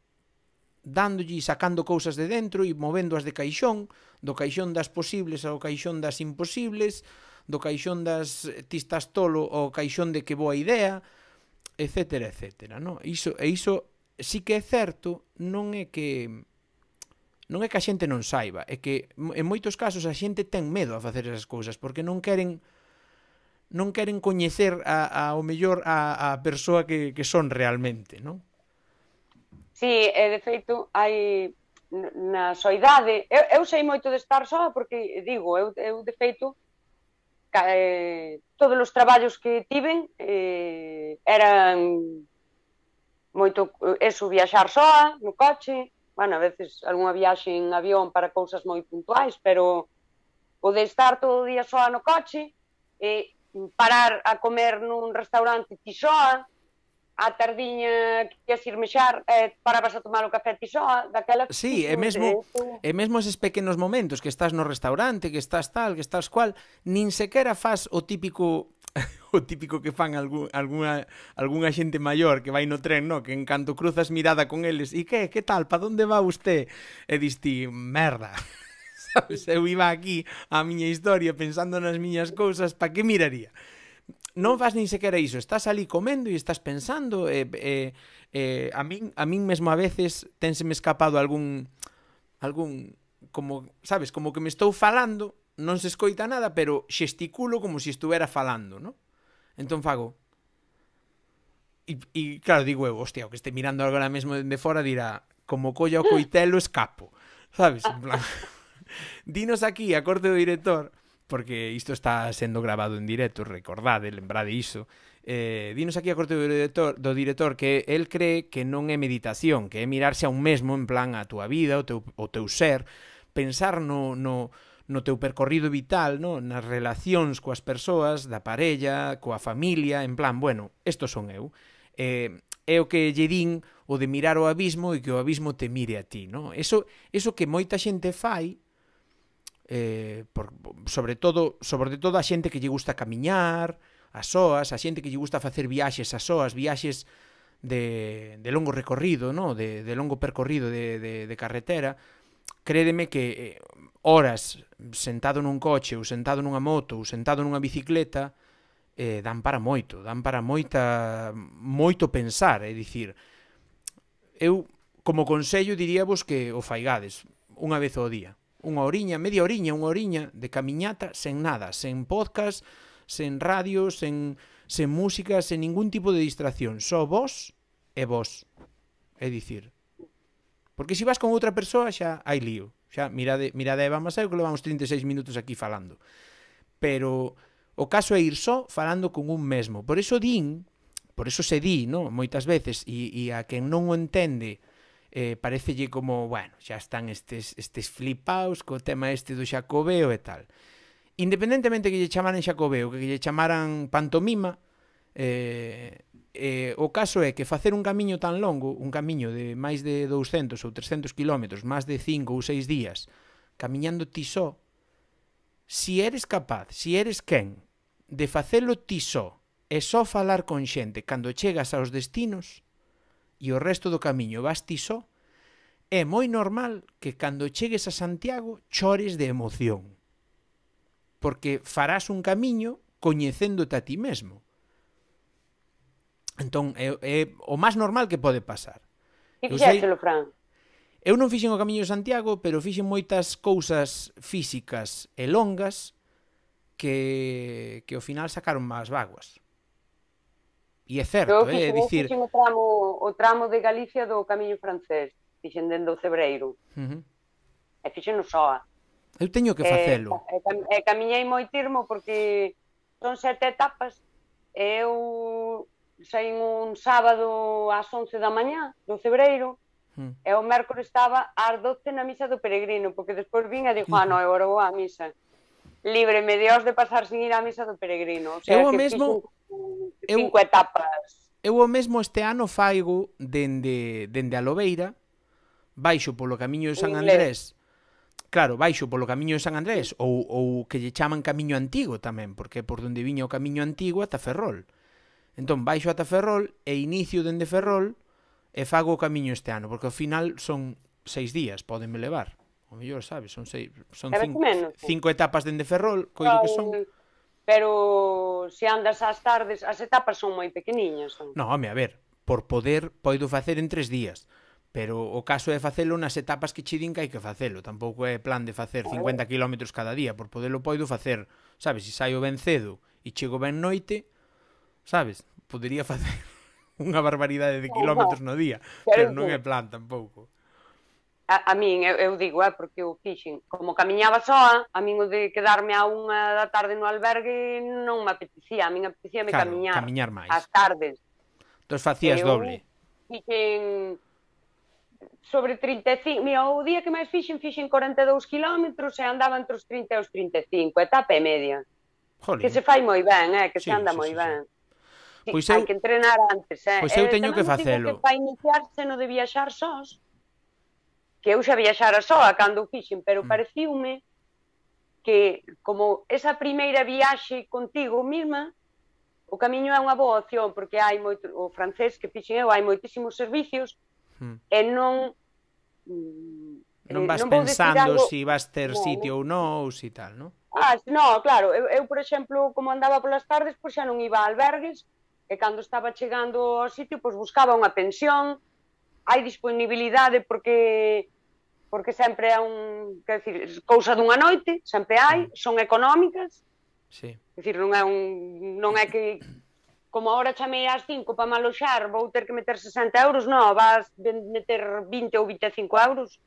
dándolle e sacando cousas de dentro e movéndoas de caixón, do caixón das posibles ao caixón das imposibles, do caixón das tistas tolo ao caixón de que boa idea, etcétera, etcétera, non? Iso, e iso sí que é certo, non é que... Non é que a xente non saiba, é que en moitos casos a xente ten medo a facer esas cousas porque non queren non queren coñecer a, a, ao mellor a, a persoa que, que son realmente, non?
Sí, e de feito hai na soidade, eu, eu sei moito de estar soa porque digo, eu, eu de feito eh, todos os traballos que tiven eh, eran moito eso, viaxar soa no coche. Bueno, a veces algunha viaxe en avión para cousas moi puntuais, pero o de estar todo o día soa no coche, e parar a comer nun restaurante ti soa, a tardiña que queres ir mexar, eh, parabas a tomar o café ti soa, daquela...
Sí, e mesmo, e mesmo eses pequenos momentos que estás no restaurante, que estás tal, que estás cual, nin sequera faz o típico... o típico que fan algún, alguna, algunha xente maior que vai no tren, no? Que en canto cruzas mirada con eles, e que, que tal, pa onde va usted? E dis ti, merda, sabes, eu iba aquí a miña historia pensando nas miñas cousas, pa que miraría? Non faz nin sequera iso, estás ali comendo e estás pensando, e, e, e a min, a min mesmo a veces tenseme escapado algún, algún, como, sabes, como que me estou falando, non se escoita nada, pero xesticulo como se si estuvera falando, non? Entón fago... E, e claro, digo eu, hostia, o que este mirando agora mesmo de fora dirá, como colla o coitelo escapo, sabes? En plan... Dinos aquí a corte do director, porque isto está sendo grabado en directo, recordade, lembrade iso, eh, dinos aquí a corte do director, do director que el cree que non é meditación, que é mirarse a un mesmo, en plan a túa vida, o teu, o teu ser, pensar no... no no teu percorrido vital, no? Nas relacións coas persoas, da parella, coa familia, en plan, bueno, estos son eu. Eh, é o que lle din o de mirar o abismo e que o abismo te mire a ti, no? Eso, eso que moita xente fai, eh, por, sobre todo sobre todo a xente que lle gusta camiñar, a soas, a xente que lle gusta facer viaxes a soas, viaxes de, de longo recorrido, no? de, de longo percorrido de, de, de carretera, crédeme que eh, horas sentado nun coche ou sentado nunha moto ou sentado nunha bicicleta eh, dan para moito, dan para moita moito pensar, é dicir, eu como consello diríavos que o faigades unha vez ao día, unha horiña, media horiña, unha horiña de camiñata sen nada, sen podcast, sen radio, sen, sen música, sen ningún tipo de distracción, só vos e vos, é dicir, porque se vas con outra persoa xa hai lío. Xa, mirade, mirade a Eva Maseu que levamos trinta e seis minutos aquí falando. pero o caso é ir só falando con un mesmo. Por iso din, por iso se di, no? Moitas veces, e, e a quen non o entende, eh, parecelle como, bueno, xa están estes, estes flipaos co tema este do xacobeo e tal. Independentemente que lle chamaran xacobeo, que lle chamaran pantomima, eh, eh, o caso é que facer un camiño tan longo, un camiño de máis de douscentos ou trescentos kilómetros, máis de cinco ou seis días, camiñando ti só, si eres capaz, si eres quen, de facelo ti só, e só falar con xente cando chegas aos destinos, e o resto do camiño vas ti só, é moi normal que cando chegues a Santiago chores de emoción. Porque farás un camiño coñecéndote a ti mesmo. Entón, é, é o máis normal que pode pasar.
E fixéxelo, Fran?
Eu non fixen o Camiño de Santiago, pero fixen moitas cousas físicas e longas que, que ao final sacaron máis vaguas. E é certo,
eu
é
fixen,
dicir...
Eu fixen o tramo, o tramo de Galicia do Camiño francés, fixen dende o Cebreiro.
Uh -huh.
E fixen no Soa.
Eu teño que facelo.
E, e, e camiñei moi termo porque son sete etapas. E eu saín un sábado ás once da mañá do Cebreiro, hmm. e o mércores estaba ás doce na misa do peregrino, porque despois vin e dixo, ah, non, agora vou á misa. Líbreme Dios de pasar sin ir á misa do peregrino. O sea,
eu o
que
mesmo...
cinco eu, etapas.
Eu o mesmo este ano faigo dende, dende a Lobeira, baixo polo Camiño de San Andrés, claro, baixo polo Camiño de San Andrés, ou, ou que lle chaman Camiño Antigo tamén, porque é por onde viña o Camiño Antigo ata Ferrol. Entón, baixo ata Ferrol e inicio dende Ferrol e fago o camiño este ano, porque ao final son seis días, podenme levar. O mellor, sabes, son seis, son cinco, cinco etapas dende Ferrol, coido que son.
Pero se andas ás tardes, as etapas son moi pequeniñas. Son.
No, home, a ver, por poder podo facer en tres días, pero o caso é facelo nas etapas que che din que hai que facelo. Tampouco é plan de facer cincuenta kilómetros cada día, por poderlo podo facer, sabes, se saio ben cedo e chego ben noite, sabes, podería facer unha barbaridade de kilómetros no día, pero non é plan tampouco.
A, a min, eu, eu digo, eh, porque eu fixen, como camiñaba soa, a min o de quedarme a unha da tarde no albergue non me apetecía, a min apetecía me
claro,
camiñar,
camiñar máis
as tardes.
Entón facías eu doble.
Fixen sobre trinta e cinco, mira, o día que máis fixen, fixen corenta e dous kilómetros e andaba entre os trinta e os trinta e cinco, etapa e media. Jolín. Que se fai moi ben, eh, que sí, se anda sí, moi sí, ben. Sí.
Pois
sí,
eu...
hai que entrenar antes, eh.
Pois eu teño que facelo.
Que para iniciarse no de viaxar sós, que eu xa viaxara soa cando fixen, pero mm. pareciume que como esa primeira viaxe contigo mesma, o camiño é unha boa opción, porque hai moito, o francés que fixen eu, hai moitísimos servicios, mm. e non...
Non vas non pensando algo... si vas ter no, sitio ou non, ou si tal, non?
Ah, no, claro, eu, eu, por exemplo, como andaba polas tardes, pois xa non iba a albergues, e cando estaba chegando ao sitio, pois buscaba unha pensión, hai disponibilidade porque porque sempre é un, quer decir, cousa dunha noite, sempre hai, son económicas.
Sí.
Quer decir, non é un non é que como agora chamei ás cinco para maloxar, vou ter que meter sesenta euros, non, vas meter vinte ou vinte e cinco euros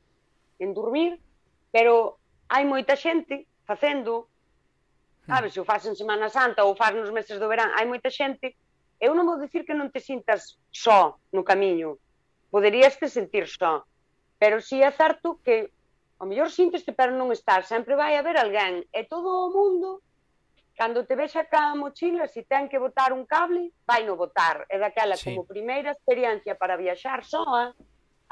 en dormir, pero hai moita xente facendo, sabes, se o faz en Semana Santa ou faz nos meses do verán, hai moita xente. Eu non vou dicir que non te sintas só no camiño, poderías te sentir só, pero si é certo que ao mellor sinteste, pero non estás, sempre vai haber alguén, e todo o mundo, cando te vexa ca mochila, se ten que botar un cable, vai no botar, e daquela sí. Como primeira experiencia para viaxar soa,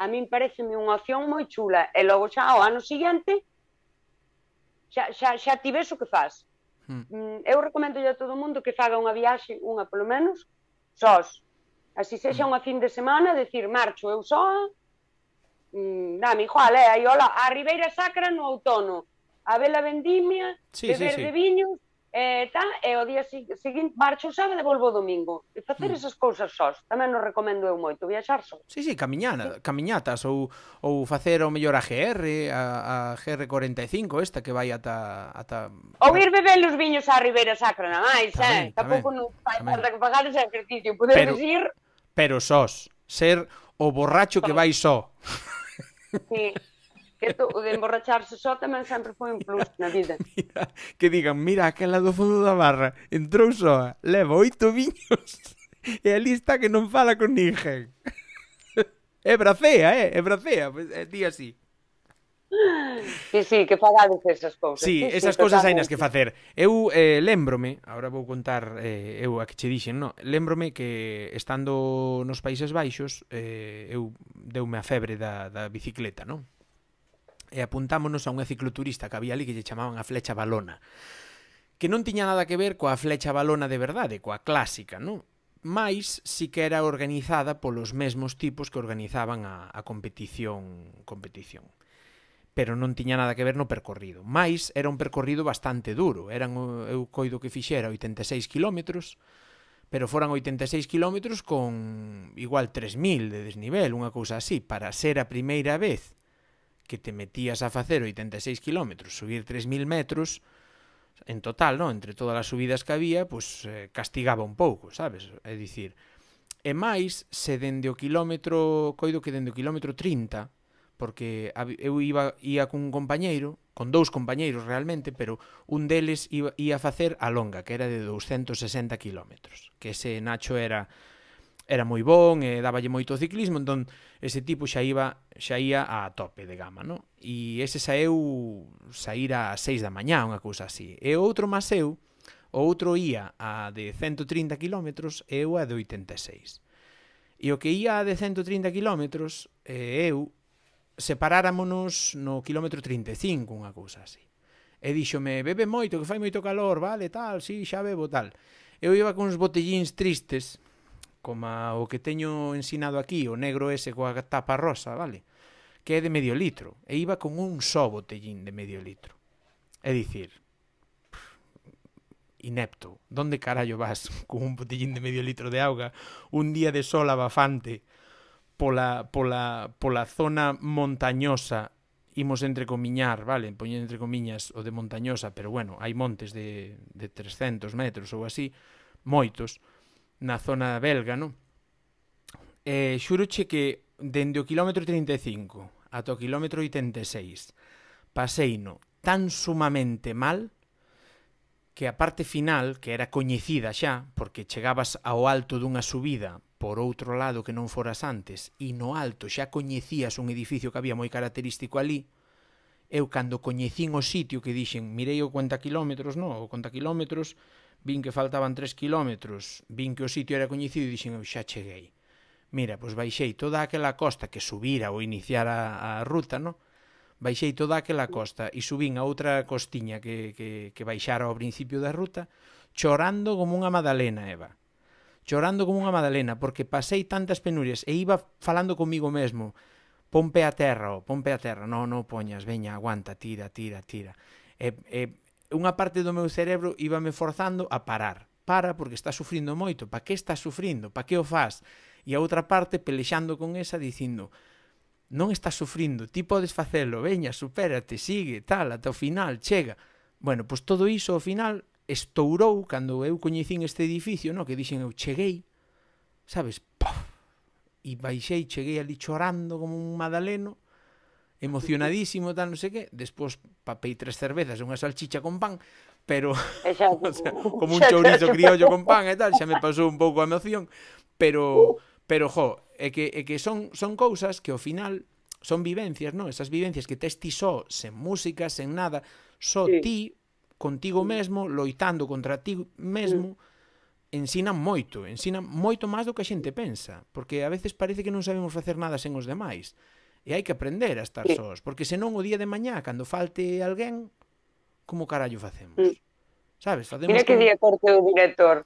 a min pareceme unha opción moi chula, e logo xa ao ano seguinte, xa, xa, xa ti ves o que faz. Hmm. Eu recomendo a todo o mundo que faga unha viaxe, unha polo menos, sós. Así sexa unha fin de semana, decir, marcho eu soa, mmm, dame igual, eh, aí, hola, a Ribeira Sacra no outono, a Vela Vendimia, sí, beber sí, sí. de viños, e tal, e o día seguinte marcho o sábado e volvo o domingo. E facer mm. esas cousas sós, tamén nos recomendo eu moito, viaxar sós.
Sí, sí, camiñana, sí. Camiñatas, ou, ou facer o mellor a G R, a, a G R cuarenta e cinco, esta que vai ata... ata...
Ou ir beber os viños á Ribeira Sacra, na máis, eh? Tampouco non fai falta que pagar ese ejercicio, poderes ir...
Pero sós, ser o borracho que vai só.
Sí, Que to, o de emborracharse só tamén sempre foi un plus na vida.
Mira, que digan, mira, aquela do fondo da barra entrou soa, leva oito viños e ali está que non fala con ninguén. É bracea, eh? É bracea, pois é ti así.
Sí, sí, que fagades esas cousas.
Sí,
sí,
esas
sí,
cousas hai nas
totalmente.
que facer. Eu eh, lémbrome, agora vou contar eh, eu a que che dixen, no? Lémbrome que estando nos Países Baixos eh, eu deume a febre da, da bicicleta, non? E apuntámonos a unha cicloturista que había ali que lle chamaban a flecha balona, que non tiña nada que ver coa flecha balona de verdade, coa clásica, non? Mais si que era organizada polos mesmos tipos que organizaban a, a competición competición. Pero non tiña nada que ver no percorrido. Mais era un percorrido bastante duro. Eran, eu coido que fixera oitenta e seis kilómetros, pero foran oitenta e seis kilómetros con igual tres mil de desnivel, unha cousa así. Para ser a primeira vez que te metías a facer oitenta e seis kilómetros, subir tres mil metros, en total, non? Entre todas as subidas que había, pues, eh, castigaba un pouco, sabes? É dicir, e máis, se dende o kilómetro, coido que dende o kilómetro trinta, porque eu iba ia cun compañeiro, con dous compañeiros realmente, pero un deles iba, ia facer a longa, que era de douscentos sesenta kilómetros, que ese Nacho era era moi bon, e dáballe moito ciclismo, entón ese tipo xa iba xa ia a tope de gama, non? E ese saeu saír a seis da mañá, unha cousa así. E o outro máis eu, o outro ia a de cento trinta kilómetros e eu a de oitenta e seis. E o que ia a de cento trinta kilómetros, e eu separáramonos no kilómetro trinta e cinco, unha cousa así. E díxome, bebe moito, que fai moito calor, vale, tal, sí, xa bebo, tal. Eu iba con uns botellíns tristes, como o que teño ensinado aquí, o negro ese coa tapa rosa, vale? Que é de medio litro. E iba con un só botellín de medio litro. É dicir, inepto, donde carallo vas con un botellín de medio litro de auga un día de sol abafante pola, pola, pola zona montañosa, imos entrecomiñar, vale, poñer entre comiñas o de montañosa, pero bueno, hai montes de, de trescentos metros ou así, moitos, na zona belga, non? E xuroche que dende o kilómetro trinta e cinco ata o kilómetro oitenta e seis paseino tan sumamente mal que a parte final, que era coñecida xa, porque chegabas ao alto dunha subida por outro lado que non foras antes, e no alto xa coñecías un edificio que había moi característico ali, eu cando coñecín o sitio que dixen, mirei o conta kilómetros, no, o conta kilómetros, vin que faltaban tres kilómetros, vin que o sitio era coñecido e dixen, eu xa cheguei. Mira, pois baixei toda aquela costa que subira ou iniciar a, a ruta, no? Baixei toda aquela costa e subín a outra costiña que, que, que baixara ao principio da ruta, chorando como unha madalena, Eva. Chorando como unha madalena, porque pasei tantas penurias e iba falando comigo mesmo, pon pé a terra, oh, pon pé a terra, non, non poñas, veña, aguanta, tira, tira, tira. E, e unha parte do meu cerebro íbame forzando a parar. Para, porque estás sufrindo moito. Pa que estás sufrindo? Pa que o faz? E a outra parte pelexando con esa dicindo, non estás sufrindo, ti podes facelo, veña, supérate, sigue, tal, ata o final, chega. Bueno, pois todo iso ao final estourou cando eu coñecín este edificio, no? Que dixen eu cheguei, sabes, pof, e baixei, cheguei ali chorando como un madaleno, emocionadísimo, tal, non sei que, despois papei tres cervezas e unha salchicha con pan, pero
Xa,
o sea, como un chourizo criollo con pan e tal, xa me pasou un pouco a emoción, pero pero jo, é que é que son son cousas que ao final son vivencias, non? Esas vivencias que tes ti só, sen música, sen nada, só
sí.
ti contigo mesmo, loitando contra ti mesmo, ensinan moito, ensinan moito máis do que a xente pensa, porque a veces parece que non sabemos facer nada sen os demais. E hai que aprender a estar
sí.
sós, porque senón o día de mañá, cando falte alguén, como carallo facemos?
Mm.
Sabes? Facemos
Mira que
como...
día corte o director.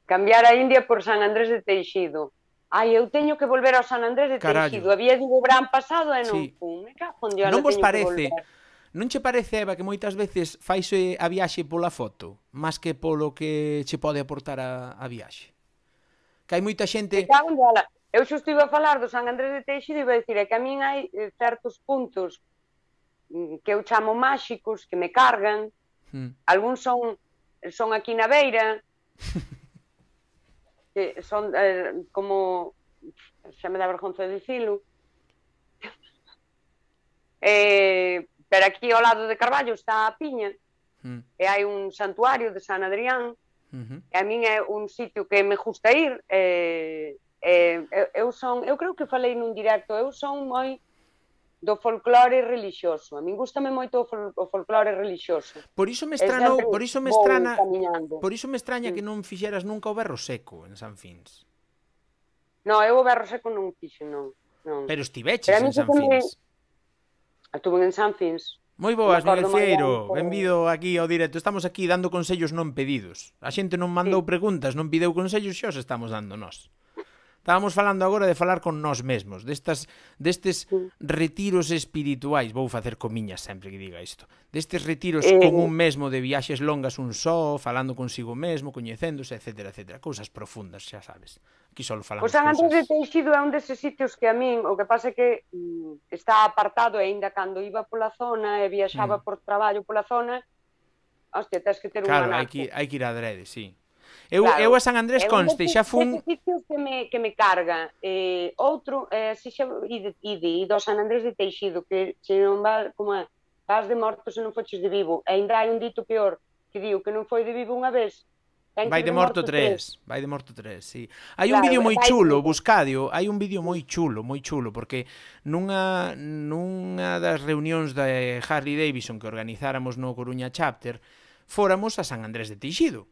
Cambiar a India por San Andrés de Teixido. Ai, eu teño que volver ao San Andrés de
Carallo.
Teixido. Había digo o verán pasado e non
Sí.
fun. Me cago en Dios,
Non vos
teño que
parece,
volver.
non che parece, Eva, que moitas veces faise a viaxe pola foto, máis que polo que che pode aportar a, a viaxe? Que hai moita
Me
xente...
cago en Dios. Eu xusto iba a falar do San Andrés de Teixido e iba a dicir é que a min hai eh, certos puntos mm, que eu chamo máxicos, que me cargan.
Hmm.
Algúns son son aquí na beira, que son eh, como, xa me dá vergonza de dicilo, Eh, pero aquí ao lado de Carballo está a Piña,
Mm.
e hai un santuario de San Adrián,
Uh-huh.
e a min é un sitio que me gusta ir, e, e, eu son, eu creo que falei nun directo, eu son moi do folclore religioso, a min gustame moito o, fol, o folclore religioso.
Por iso me
E
estranou,
sempre
por iso me
vou
estrana,
camiñando.
por iso me extraña
Sí.
que non fixeras nunca o berro seco en San Fins.
No, eu o berro seco non fixo, non. non.
Pero estiveches
Pero a mí
en San
sí que me-
Fins.
Estuve en San Fins.
Moi boas,
Me acordo
Miguel
moi
Fieiro.
ben, pero-
Benvido aquí ao directo. Estamos aquí dando consellos non pedidos. A xente non mandou
Sí.
preguntas, non pideu consellos, xa os estamos dando nós. Estábamos falando agora de falar con nós mesmos, destas, destes
Sí.
retiros espirituais, vou facer comiñas sempre que diga isto, destes retiros
Eh,
con un mesmo de viaxes longas un só, falando consigo mesmo, coñecéndose, etcétera, etcétera. Cousas profundas, xa sabes. Aquí só falamos
O San Andrés de
cousas.
Teixido é un deses sitios que a min, o que pasa é que mm, está apartado, e aínda cando iba pola zona e viaxaba
Mm.
por traballo pola zona, hostia, tens que ter un
Claro, hai
anaco.
que, hai que ir a adrede, sí. Eu,
Claro,
eu a San Andrés
é un
conste,
deses-
xa fun...
deses sitios que me, que me carga. Eh, outro, eh, si xa ide, ide, ide ao San Andrés de Teixido, que se non va, como é, vas de morto se non foches de vivo. E ainda hai un dito peor, que digo que non foi de vivo unha vez, ten que
Vai
ir
de morto tres, vai de morto tres, sí. Hai un
Claro,
vídeo moi
vai de
chulo,
morto.
buscadio, hai un vídeo moi chulo, moi chulo, porque nunha, nunha das reunións de Harley Davidson que organizáramos no Coruña Chapter, fóramos a San Andrés de Teixido.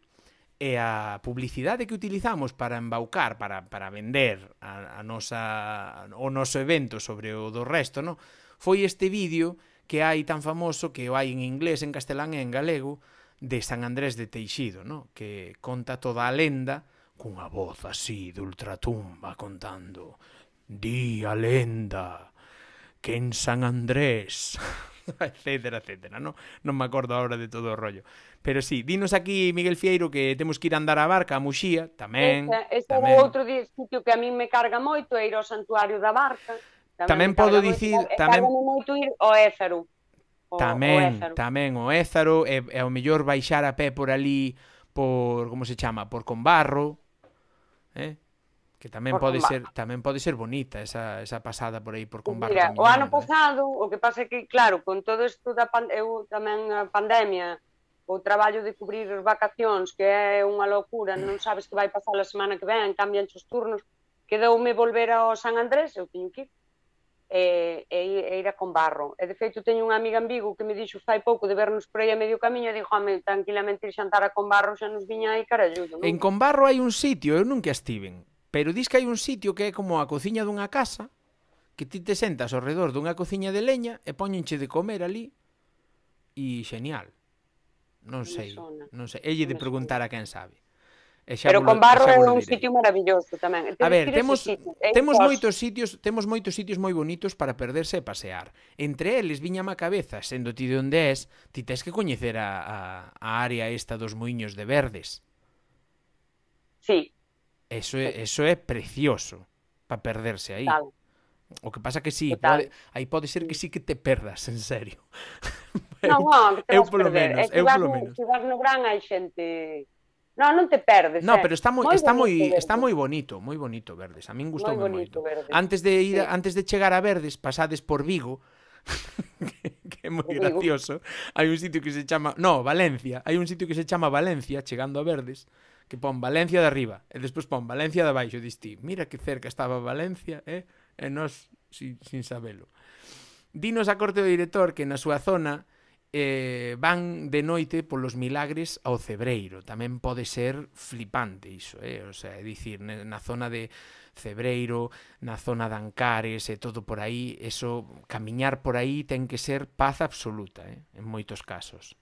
E a publicidade que utilizamos para embaucar, para, para vender a, a nosa, o noso evento sobre o do resto, no? Foi este vídeo que hai tan famoso, que o hai en inglés, en castelán e en galego, de San Andrés de Teixido, no? Que conta toda a lenda cunha voz así de ultratumba contando: di a lenda que en San Andrés, etcétera, etcétera, no? Non me acordo agora de todo o rollo. Pero sí, dinos aquí, Miguel Fieiro, que temos que ir a andar a barca, a Muxía, tamén.
Ese, ese
tamén.
é outro di- sitio que a min me carga moito, é ir ao Santuario da Barca.
Tamén
me
podo
carga
dicir,
moito, e
tamén-
cárgame moito ir ao Ézaro. O,
Tamén,
o Ézaro.
tamén o Ézaro, e, e ao mellor baixar a pé por ali, por, como se chama, por Conbarro, eh? Que tamén
Por
pode
Conbarro.
ser, tamén pode ser bonita esa, esa pasada por aí por Conbarro.
Mira, o
camiñando,
ano
eh.
pasado, o que pasa é que, claro, con todo isto da pan, eu tamén a pandemia, o traballo de cubrir vacacións, que é unha locura, non sabes que vai pasar a semana que ven, cambian os turnos, quedoume volver ao San Andrés, eu teño que ir, e, e, e ir a Conbarro. E, de feito, teño unha amiga en Vigo que me dixo fai pouco de vernos por aí a medio camiño, e dixo, home, tranquilamente ir xantar a Conbarro, xa nos viña aí caralludo, non?
En Conbarro hai un sitio, eu nunca estiven, pero dis que hai un sitio que é como a cociña dunha casa, que ti te sentas ao redor dunha cociña de leña e póñenche de comer ali, e genial. Non
Non me
sei,
sona.
non sei. Elle de
Non me
preguntar a quen sabe. E xa
Pero
volo-
Conbarro
xa
é
volo
un
direi.
sitio maravilloso tamén.
A ver,
Tires
temos
ese sitio, é
temos
sós.
moitos sitios, temos moitos sitios moi bonitos para perderse e pasear. Entre eles viñame a cabeza, sendo ti de onde és, ti tes que coñecer a, a, a área esta dos Muiños de Verdes.
Sí,
Eso é, eso é precioso para perderse aí.
tal.
O que pasa que sí,
Total.
pode, aí pode ser que sí que te perdas, en serio.
Non, non, que te
eu
vas
polo
perder.
menos,
É que
eu
vas
polo
no,
menos.
se vas no Gran hai xente... Non, non te perdes,
No,
eh.
pero está moi
Moi
está moi
bonito
está
Verdes.
moi bonito, moi bonito Verdes. A min gustoume
Moi bonito
moito.
Verdes.
Antes de ir a-
Sí.
antes de chegar a Verdes, pasades por Vigo, que, que é moi
Vigo.
gracioso. Hai un sitio que se chama, no, Valencia, hai un sitio que se chama Valencia, chegando a Verdes, que pon Valencia de arriba e despois pon Valencia de abaixo, dis ti, mira que cerca estaba Valencia, eh? E nós sin, sin sabelo. Dinos a corte do director que na súa zona eh, van de noite polos milagres ao Cebreiro. Tamén pode ser flipante iso, eh? O sea, é dicir, ne- na zona de Cebreiro, na zona de Ancares e todo por aí, eso, camiñar por aí ten que ser paz absoluta, eh? En moitos casos.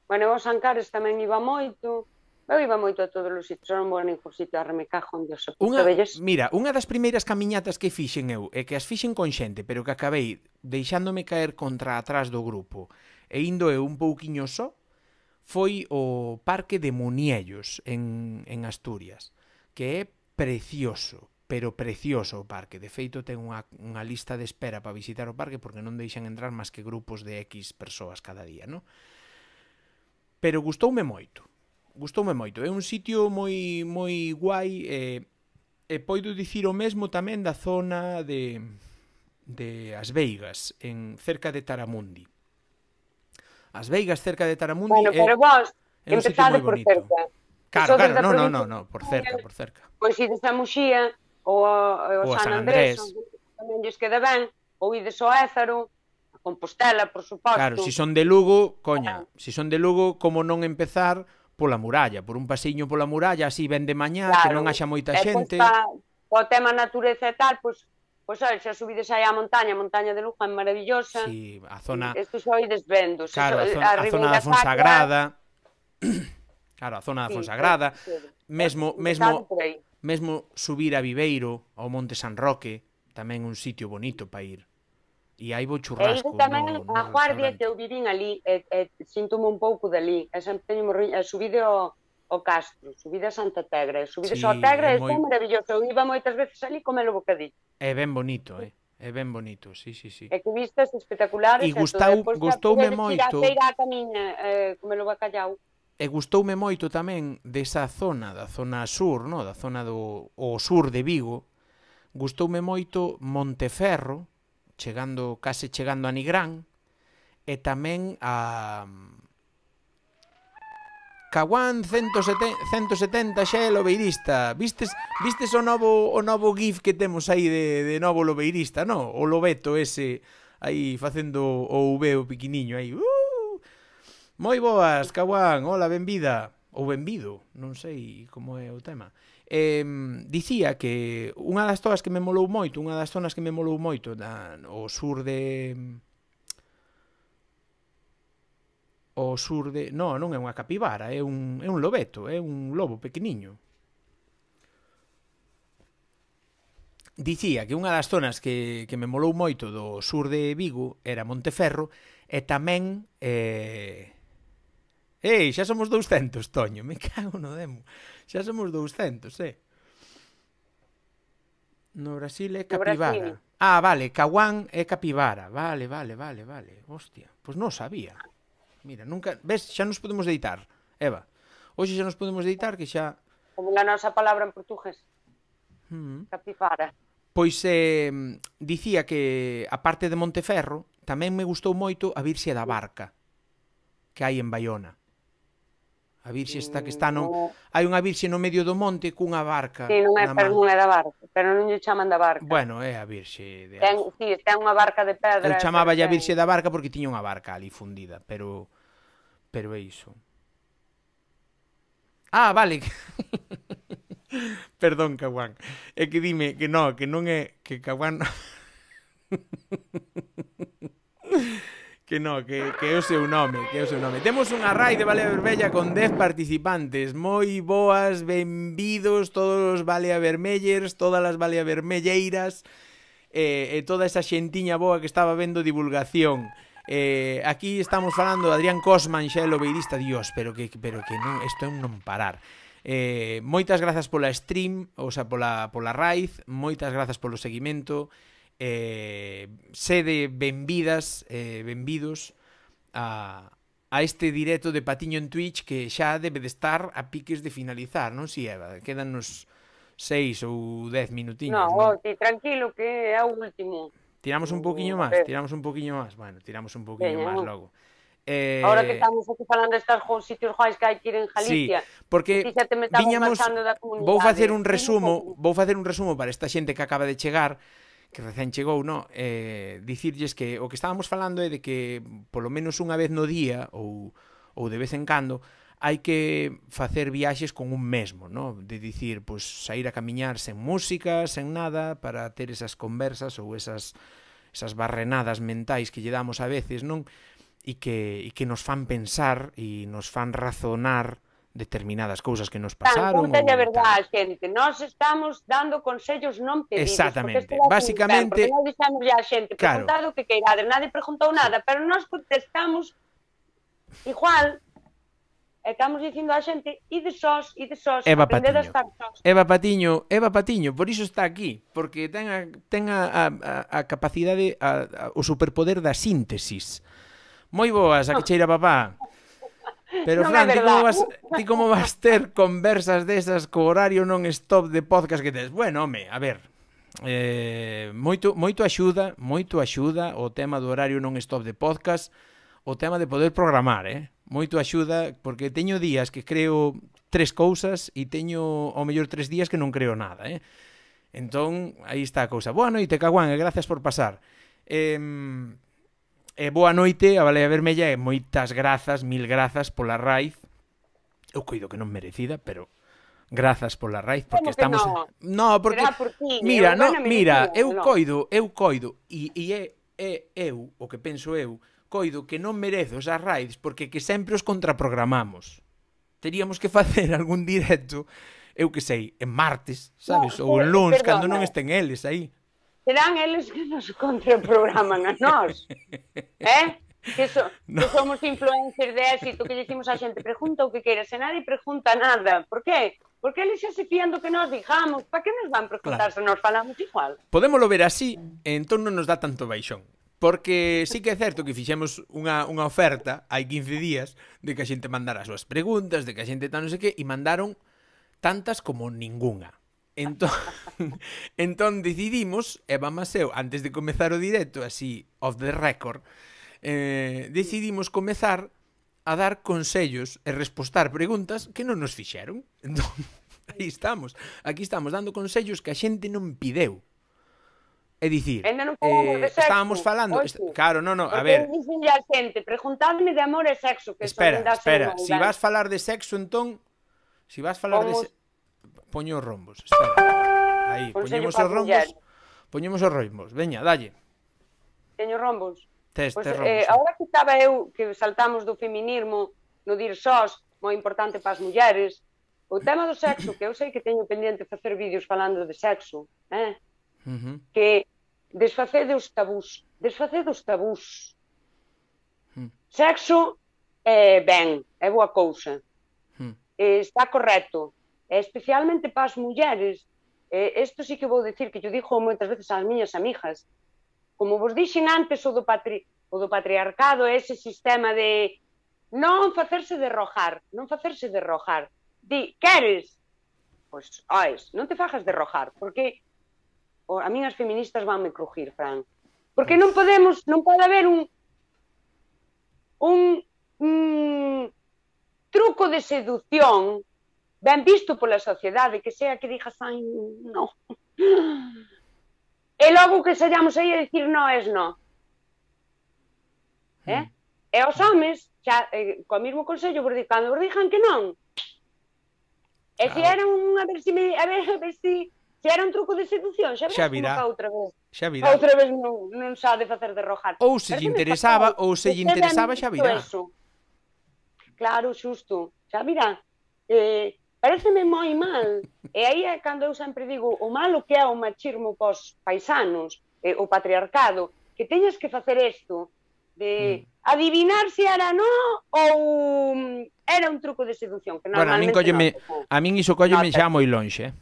Bueno, eu aos Ancares tamén iba moito. Eu iba moito a todos os sitios, non vou a ningún sitio, a remecajo onde os
Unha,
velles.
mira, unha das primeiras camiñatas que fixen eu é que as fixen con xente, pero que acabei deixándome caer contra atrás do grupo e indo eu un pouquiño só, foi o Parque de Muniellos en, en Asturias, que é precioso, pero precioso o parque. De feito, ten unha, unha lista de espera para visitar o parque porque non deixan entrar máis que grupos de X persoas cada día, non? Pero gustoume moito. Gustoume moito. É un sitio moi moi guai e, e poido dicir o mesmo tamén da zona de de As Veigas, en cerca de Taramundi. As Veigas cerca de Taramundi
Bueno,
é,
pero vos
é un sitio
empezade
moi
por
bonito.
cerca.
Claro,
Sodes
claro,
da
no, no,
provincia
no, no, por cerca, por cerca.
Pois ides a Muxía ou a,
Ou a
o
San
San Andrés,
Andrés.
tamén lles queda ben, ou ides ao Ézaro, a Compostela, por suposto.
Claro, si son de Lugo, coña, si son de Lugo, como non empezar pola muralla, por un pasiño pola muralla, así ben de mañá,
Claro.
que non haxa moita
E
xente.
pois pa, o tema natureza e tal, pois, pois oi, xa subides aí á montaña, a montaña de Lugo é maravillosa.
Sí, a zona,
Isto xa ides vendo. Se
claro, a
so,
zona, a zona da
Ribeira
Fonsagrada. Claro, a zona da
Sí,
Fonsagrada.
sí, sí.
Mesmo,
Empezade
mesmo,
por aí.
mesmo subir a Viveiro, ao Monte San Roque, tamén un sitio bonito para ir. E aí vou
E
churrasco
ido tamén
no, no
a Guardia,
restaurante.
que eu vivín ali, e, e síntome un pouco dali. E sempre teño morri... e subide ao, ao Castro, subide a Santa Tegra, e subide
Sí,
ao Tegra,
é
e
moi-
é maravilloso. Eu iba moitas veces ali comer o bocadillo.
É ben bonito, eh? É ben bonito, sí, sí, sí.
E que vistas espectaculares.
E gustou-
depois xa
gustoume
podedes ir
moito.
a feira a camiña, eh, comer o bacallau.
E gustoume moito tamén desa zona, da zona sur, no? Da zona do o sur de Vigo. Gustoume moito Monteferro, chegando case chegando a Nigrán, e tamén a Caguán ciento setenta xa é lobeirista. Vistes vistes o novo o novo gif que temos aí de, de novo lobeirista, no? O lobeto ese aí facendo o V o piquiniño aí. Uh! Moi boas, Caguán. Hola, benvida. Ou benvido, non sei como é o tema. Eh, dicía que unha das zonas que me molou moito, unha das zonas que me molou moito na, o sur de o sur de... No, non é unha capibara, é un, é un lobeto, é un lobo pequeniño. Dicía que unha das zonas que, que me molou moito do sur de Vigo era Monteferro e tamén... Eh... Ei, xa somos douscentos, Toño, me cago no demo. Xa somos douscentos, eh. No Brasil é capibara.
Brasil.
Ah, vale, Caguán é capibara. Vale, vale, vale, vale. Hostia, pois non sabía. Mira, nunca... Ves, xa nos podemos deitar, Eva. Hoxe xa nos podemos deitar que xa...
Como a nosa palabra en portugués.
Mm.
Capifara.
Pois eh, dicía que, a parte de Monteferro, tamén me gustou moito a Virxe da Barca que hai en Baiona. A Virxe está que está no... Hai unha Virxe no medio do monte cunha barca.
Sí, non é,
na
pero
man.
non é da barca. Pero non lle chaman da barca.
Bueno, é a Virxe de...
Ten, sí, ten unha barca de pedra.
Eu chamaba a
pero
Virxe
ten-
da Barca porque tiña unha barca ali fundida, pero... Pero é iso. Ah, vale. Perdón, Caguán. É que dime que no, que non é... Que Caguán... Que no, que, que é o seu nome, que é o seu nome. Temos unha raid de Balea Vermella con dez participantes. Moi boas, benvidos todos os Balea Vermellers, todas as Balea Vermelleiras, e, e toda esa xentiña boa que estaba vendo divulgación. Eh, aquí estamos falando de Adrián Cosman, xa é lobeirista. Dios, pero que, pero que non, isto é un non parar. Eh, moitas grazas pola stream, ou sea, pola, pola raid, moitas grazas polo seguimento. Eh, sede benvidas, eh, benvidos a, a este directo de Patiño en Twitch que xa debe de estar a piques de finalizar, non si, Eva? Quedanos seis ou dez minutiños,
No,
non?
oh, ti, tranquilo que é o último.
Tiramos un poquinho máis, tiramos un poquinho máis. Bueno, tiramos un poquinho
Veña,
máis
non.
logo. Eh,
Ahora que estamos aquí falando destas jo- sitios guais que hai que ir en
Sí,
Galicia.
porque
ti xa te me estabas
viñamos,
marchando da comunidade.
vou facer un
Dime
resumo,
como.
vou facer un resumo para esta xente que acaba de chegar, que recén chegou, no, eh, dicirlles que o que estábamos falando é de que polo menos unha vez no día ou ou de vez en cando hai que facer viaxes con un mesmo, no? De dicir, pois saír a camiñar sen música, sen nada, para ter esas conversas ou esas esas barrenadas mentais que lle damos a veces, non? E que e que nos fan pensar e nos fan razonar determinadas cousas que nos pasaron.
Tan, contalle a
ou
verdade,
tal.
xente. Nós estamos dando consellos non pedidos.
Exactamente.
Porque este
Basicamente-
Porque nós dixemos a xente,
Claro.
preguntado o que queirades. Nadie preguntou nada, pero nós contestamos igual. E estamos dicindo a xente, ide sós, ide sós,
Eva
aprended a
Patiño.
estar sós.
Eva Patiño, Eva Patiño, por iso está aquí, porque ten a, ten a, a, a capacidade, a, a, o superpoder da síntesis. Moi boas, a que cheira papá. Pero
Non
Fran,
é
ti como,
verdad.
vas, ti como vas ter conversas desas co horario non stop de podcast que tes? Bueno, home, a ver, eh, moito, moito axuda, moito axuda o tema do horario non stop de podcast, o tema de poder programar, eh? Moito axuda, porque teño días que creo tres cousas e teño ao mellor tres días que non creo nada, eh? Entón, aí está a cousa. Boa noite, Caguán, e gracias por pasar. Eh, e boa noite a Balea Vermella e moitas grazas, mil grazas pola raíz. Eu coido que non merecida, pero grazas pola raíz, porque estamos...
No,
no porque...
Por ti,
mira,
eu,
no,
bueno,
mira,
merecida,
eu
no.
coido, eu coido, e, e é, é eu, o que penso eu, coido que non merezo esas raids porque que sempre os contraprogramamos. Teríamos que facer algún directo, eu que sei, en martes, sabes?
No,
ou en luns,
perdona.
cando non estén eles aí.
Serán eles que nos contraprograman a nós. Eh? Que, so,
No.
que somos influencers de éxito, que decimos a xente, pregunta o que queiras, e nadie pregunta nada. Por qué? Porque eles xa se fían do que nos digamos. Para que nos van preguntar
Claro.
se nos falamos igual?
Podémolo ver así, e entón non nos dá tanto baixón. Porque sí que é certo que fixemos unha, unha oferta hai quince días de que a xente mandara as súas preguntas, de que a xente tal non sei que, e mandaron tantas como ningunha. Entón, entón decidimos, Eva Maseu, antes de comezar o directo, así, off the record, eh, decidimos comezar a dar consellos e respostar preguntas que non nos fixeron. Entón, aí estamos. Aquí estamos dando consellos que a xente non pideu. É dicir,
Ainda non falamos de
eh,
sexo,
estábamos falando...
oxe.
est- Claro, non, non, a
Porque
ver...
dicen a xente, preguntadme de amor e sexo, que
Espera,
son das
espera, si vas falar de sexo, entón, si vas falar de
Pomos-
se... Poño os rombos, espera. Aí,
Consello
poñemos
pa
os rombos,
muller.
poñemos os rombos. Veña, dalle.
Teño rombos.
Tes,
Pois,
tes rombos.
eh,
sí.
agora que estaba eu, que saltamos do feminismo, no dir sós, moi importante para as mulleres, o tema do sexo, que eu sei que teño pendiente facer vídeos falando de sexo, eh?
Ujú,
que desfacede os tabús, desfacede os tabús.
Mm.
Sexo é ben, é boa cousa,
mm.
eh, está correcto, e especialmente para as mulleres, eh, isto sí que vou dicir, que yo digo moitas veces ás miñas amigas, como vos dixen antes, o do, patri o do patriarcado, ese sistema de non facerse derrojar, non facerse derrojar. Di, queres? Pois, ois, non te fajas derrojar, porque o, a min as feministas vanme crujir, Fran. Porque non podemos, non pode haber un un, un truco de seducción ben visto pola sociedade, que sea que digas, ai, non. E logo que sallamos aí a dicir no es no. Eh?
Mm.
E os homes, xa, eh, co mesmo consello, vos di, cando vos dixan que non, e se
Claro.
era un, a ver se me, a ver, a ver se, se era un truco de seducción, xa verás
Xa
como
virá.
ca outra vez.
Xa
A
virá.
outra vez non, non sabe facer derrojar.
Ou se lle
Pareceme
interesaba,
fatal.
ou se lle
Vostede
interesaba,
é
xa
moito
virá.
eso. Claro, xusto. Xa virá. Eh, pareceme moi mal. E aí é cando eu sempre digo o malo que é o machismo pos paisanos, eh, o patriarcado, que teñas que facer isto de
Mm.
adivinar se era no ou mm, era un truco de seducción, que
Bueno, a min
normalmente
colleme,
nota,
a min iso colleme
Nota.
xa moi lonxe, eh.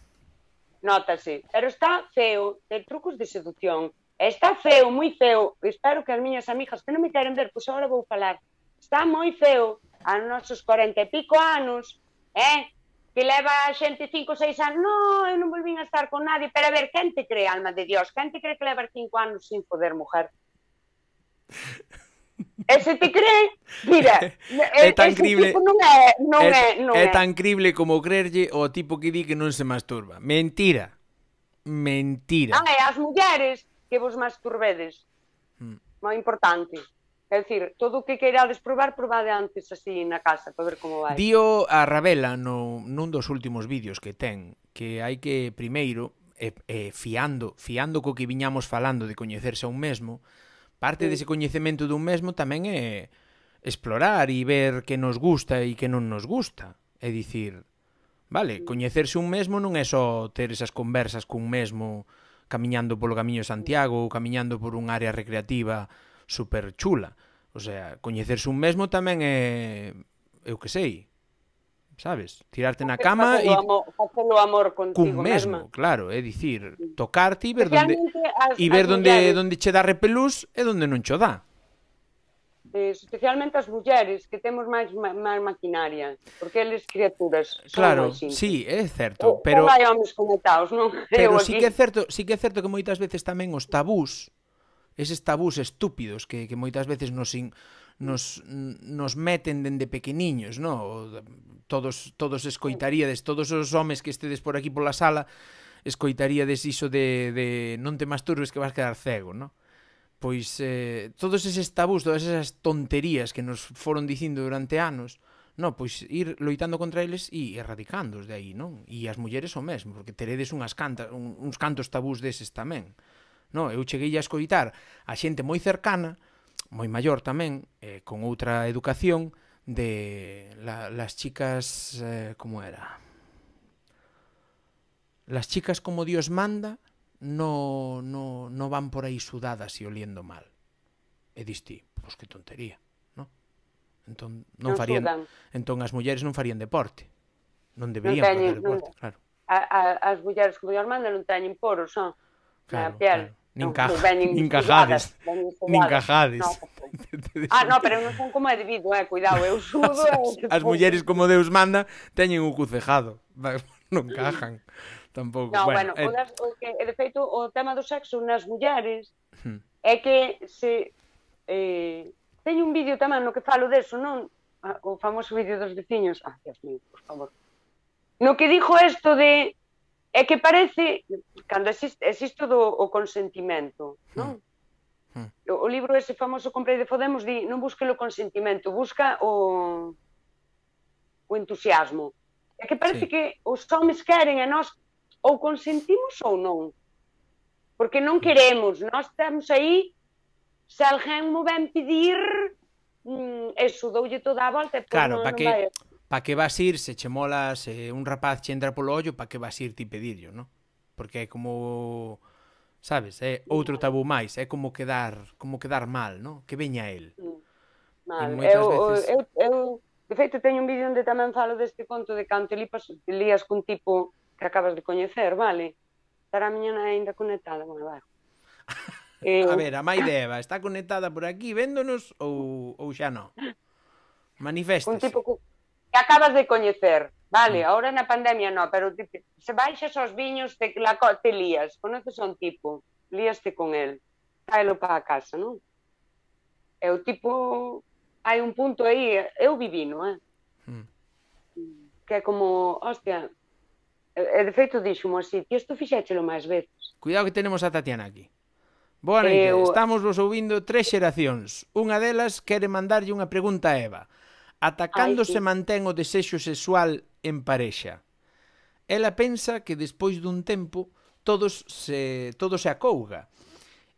notase. Pero está feo ter trucos de seducción. E está feo, moi feo. Espero que as miñas amigas que non me queren ver, pois agora vou falar. Está moi feo a nosos cuarenta e pico anos, eh? Que leva a xente cinco ou seis anos, no, eu non volvín a estar con nadie, pero a ver, quen te cree, alma de Dios? Quen te cree que leva cinco anos sin poder mujer? E se te cree, mira,
É tan
ese
crible-
tipo non é, non é,
É,
non
é
é.
tan crible como creerlle o tipo que di que non se masturba. Mentira. Mentira.
Ah, e as mulleres que vos masturbedes.
Mm.
Moi importante. É dicir, todo o que queirades probar, probade antes así na casa, para ver como vai.
Dío a Ravela no, nun dos últimos vídeos que ten que hai que primeiro, e, e fiando, fiando co que viñamos falando de coñecerse a un mesmo, parte
Sí.
dese coñecemento dun mesmo tamén é explorar e ver que nos gusta e que non nos gusta. É dicir, vale, coñecerse un mesmo non é só ter esas conversas cun mesmo camiñando polo Camiño de Santiago ou camiñando por un área recreativa super chula. O sea, coñecerse un mesmo tamén é, eu que sei, sabes? Tirarte na cama e
Facelo amor, facelo amor
cun
contigo
mesmo,
mesma.
claro, é dicir, tocarte e ver donde
Especialmente as-
e ver
as
donde
mulleres.
donde che dá repelús e donde non cho dá.
eh, especialmente as mulleres, que temos máis, máis maquinaria, porque eles criaturas son
Claro,
máis simples.
sí, é certo,
O,
pero
non hai homes conectados, non?
pero
Eu
sí
aquí.
que é certo, sí que é certo que moitas veces tamén os tabús, eses tabús estúpidos que, que moitas veces nos in, nos, nos meten dende pequeniños, no? Todos todos escoitaríades, todos os homes que estedes por aquí pola sala, escoitaríades iso de, de non te masturbes que vas quedar cego, no? Pois eh, todos eses tabús, todas esas tonterías que nos foron dicindo durante anos, no, pois ir loitando contra eles e erradicándoos de aí, non? E as mulleres o mesmo, porque teredes unhas cantas, un, uns cantos tabús deses tamén. No, eu cheguei a escoitar a xente moi cercana, moi maior tamén, eh, con outra educación, de la, las chicas, eh, como era? Las chicas como Dios manda, no, no, no van por aí sudadas e oliendo mal. E diste, pois que tontería, non? Entón, non, non farían, sudan. Entón as mulleres non farían deporte. Non deberían non teñen, facer deporte, non, claro.
A, a, as mulleres como Dios manda non teñen poros, non?
Claro,
na piel.
Claro. Nin, caja, nin cajades. Nin cajades.
No, ah, no, pero non son como é debido, eh, cuidado, eu sudo.
As, as mulleres como Deus manda teñen o cu cejado. Non cajan. Tampouco.
No,
bueno,
bueno
eh...
o, das, o que, de feito, o tema do sexo nas mulleres hmm. é que se eh, teño un vídeo tamén no que falo deso, non? O famoso vídeo dos veciños. Ah, Dios mío, por favor. No que dixo isto de é que parece, cando existe, existe do, o consentimento, non? Hmm. Hmm. O, o libro ese famoso Comprei de Podemos di, non busque o consentimento, busca o o entusiasmo. É que parece sí. que os homes queren e nós ou consentimos ou non. Porque non queremos, nós estamos aí, se alguén mo ven pedir, mm, eso, doulle toda a volta e pois
claro,
non,
pa
non
que,
vai...
pa que vas ir, se che mola, se un rapaz che entra polo ollo, pa que vas ir ti pedirlo, non? Porque é como, sabes, é outro tabú máis, é como quedar, como quedar mal, non? Que veña el.
Mal, eu, veces... eu, eu, de feito, teño un vídeo onde tamén falo deste conto de canto lías cun tipo que acabas de coñecer, vale? Estará a miña ainda conectada, bueno, vai.
eh... A ver, a Mai de Eva, está conectada por aquí véndonos ou, ou xa non? Maniféstase.
Un tipo que acabas de coñecer, vale? Mm. Ahora na pandemia non, pero tipo, se baixas aos viños te, la, te lías, conoces a un tipo, líaste con el, traelo para a casa, non? E o tipo, hai un punto aí, eu vivino, eh? Mm. Que é como, hostia... E de feito dixo-mo así, ti isto fixéchelo máis veces.
Cuidado que tenemos a Tatiana aquí. Boa noite, eu... estamos vos ouvindo tres xeracións. Unha delas quere mandarlle unha pregunta a Eva. Ata cando sí. se mantén o desexo sexual en parexa? Ela pensa que despois dun tempo todos se, todo se acouga.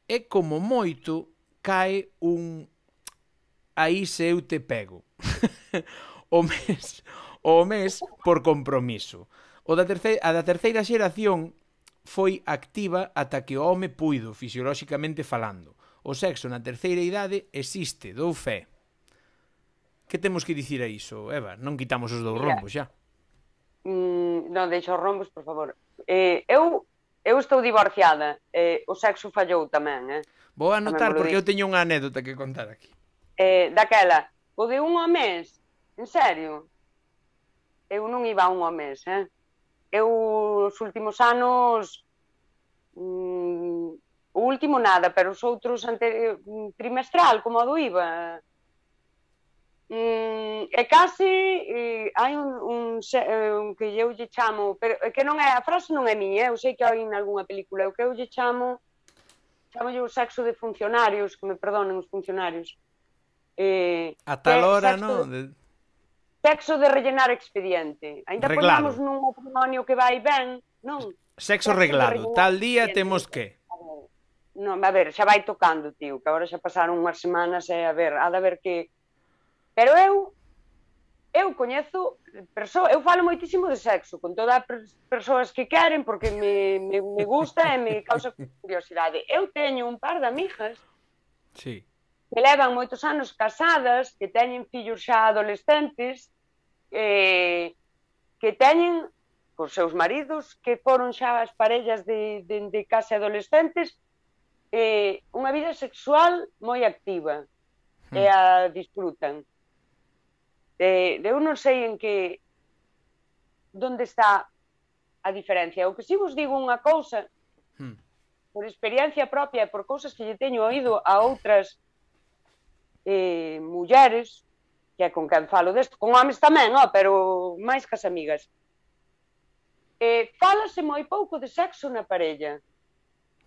É como moito cae un aí se eu te pego. o mes, o mes por compromiso. O da terceira, a da terceira xeración foi activa ata que o home puido, fisiolóxicamente falando. O sexo na terceira idade existe, dou fe. Que temos que dicir a iso, Eva? Non quitamos os dous rombos, xa.
Mm, non, deixa os rombos, por favor. Eh, eu, eu estou divorciada. Eh, o sexo fallou tamén, eh?
Vou anotar porque eu teño unha anécdota que contar aquí.
Eh, daquela, o de un ao mes, en serio? Eu non iba a un ao mes, eh? Eu, os últimos anos, mm, o último nada, pero os outros ante, trimestral, como a do I V A. Mm, e case eh, hai un, un, un que eu lle chamo, pero que non é, a frase non é miña, eu sei que hai en algunha película, o que eu lle chamo, chamo o sexo de funcionarios, que me perdonen os funcionarios.
Eh, a tal hora, non? De...
Sexo de rellenar expediente. Ainda poñamos nun matrimonio que vai ben, non?
Sexo, Sexo reglado. Tal día expediente. Temos que...
Non, a ver, xa vai tocando, tío, que agora xa pasaron unhas semanas e a ver, ha de ver que... Pero eu, eu coñezo, perso... eu falo moitísimo de sexo, con todas as persoas que queren, porque me, me, me gusta e me causa curiosidade. Eu teño un par de amigas
sí.
que levan moitos anos casadas, que teñen fillos xa adolescentes, eh, que teñen cos seus maridos, que foron xa as parellas de, de, de case adolescentes, eh, unha vida sexual moi activa. e a disfrutan. De, de eu non sei en que onde está a diferencia. O que si vos digo unha cousa,
Hmm.
por experiencia propia e por cousas que lle teño oído a outras eh, mulleres, que é con quen falo desto, con homes tamén, oh, pero máis cas amigas. Eh, fálase moi pouco de sexo na parella.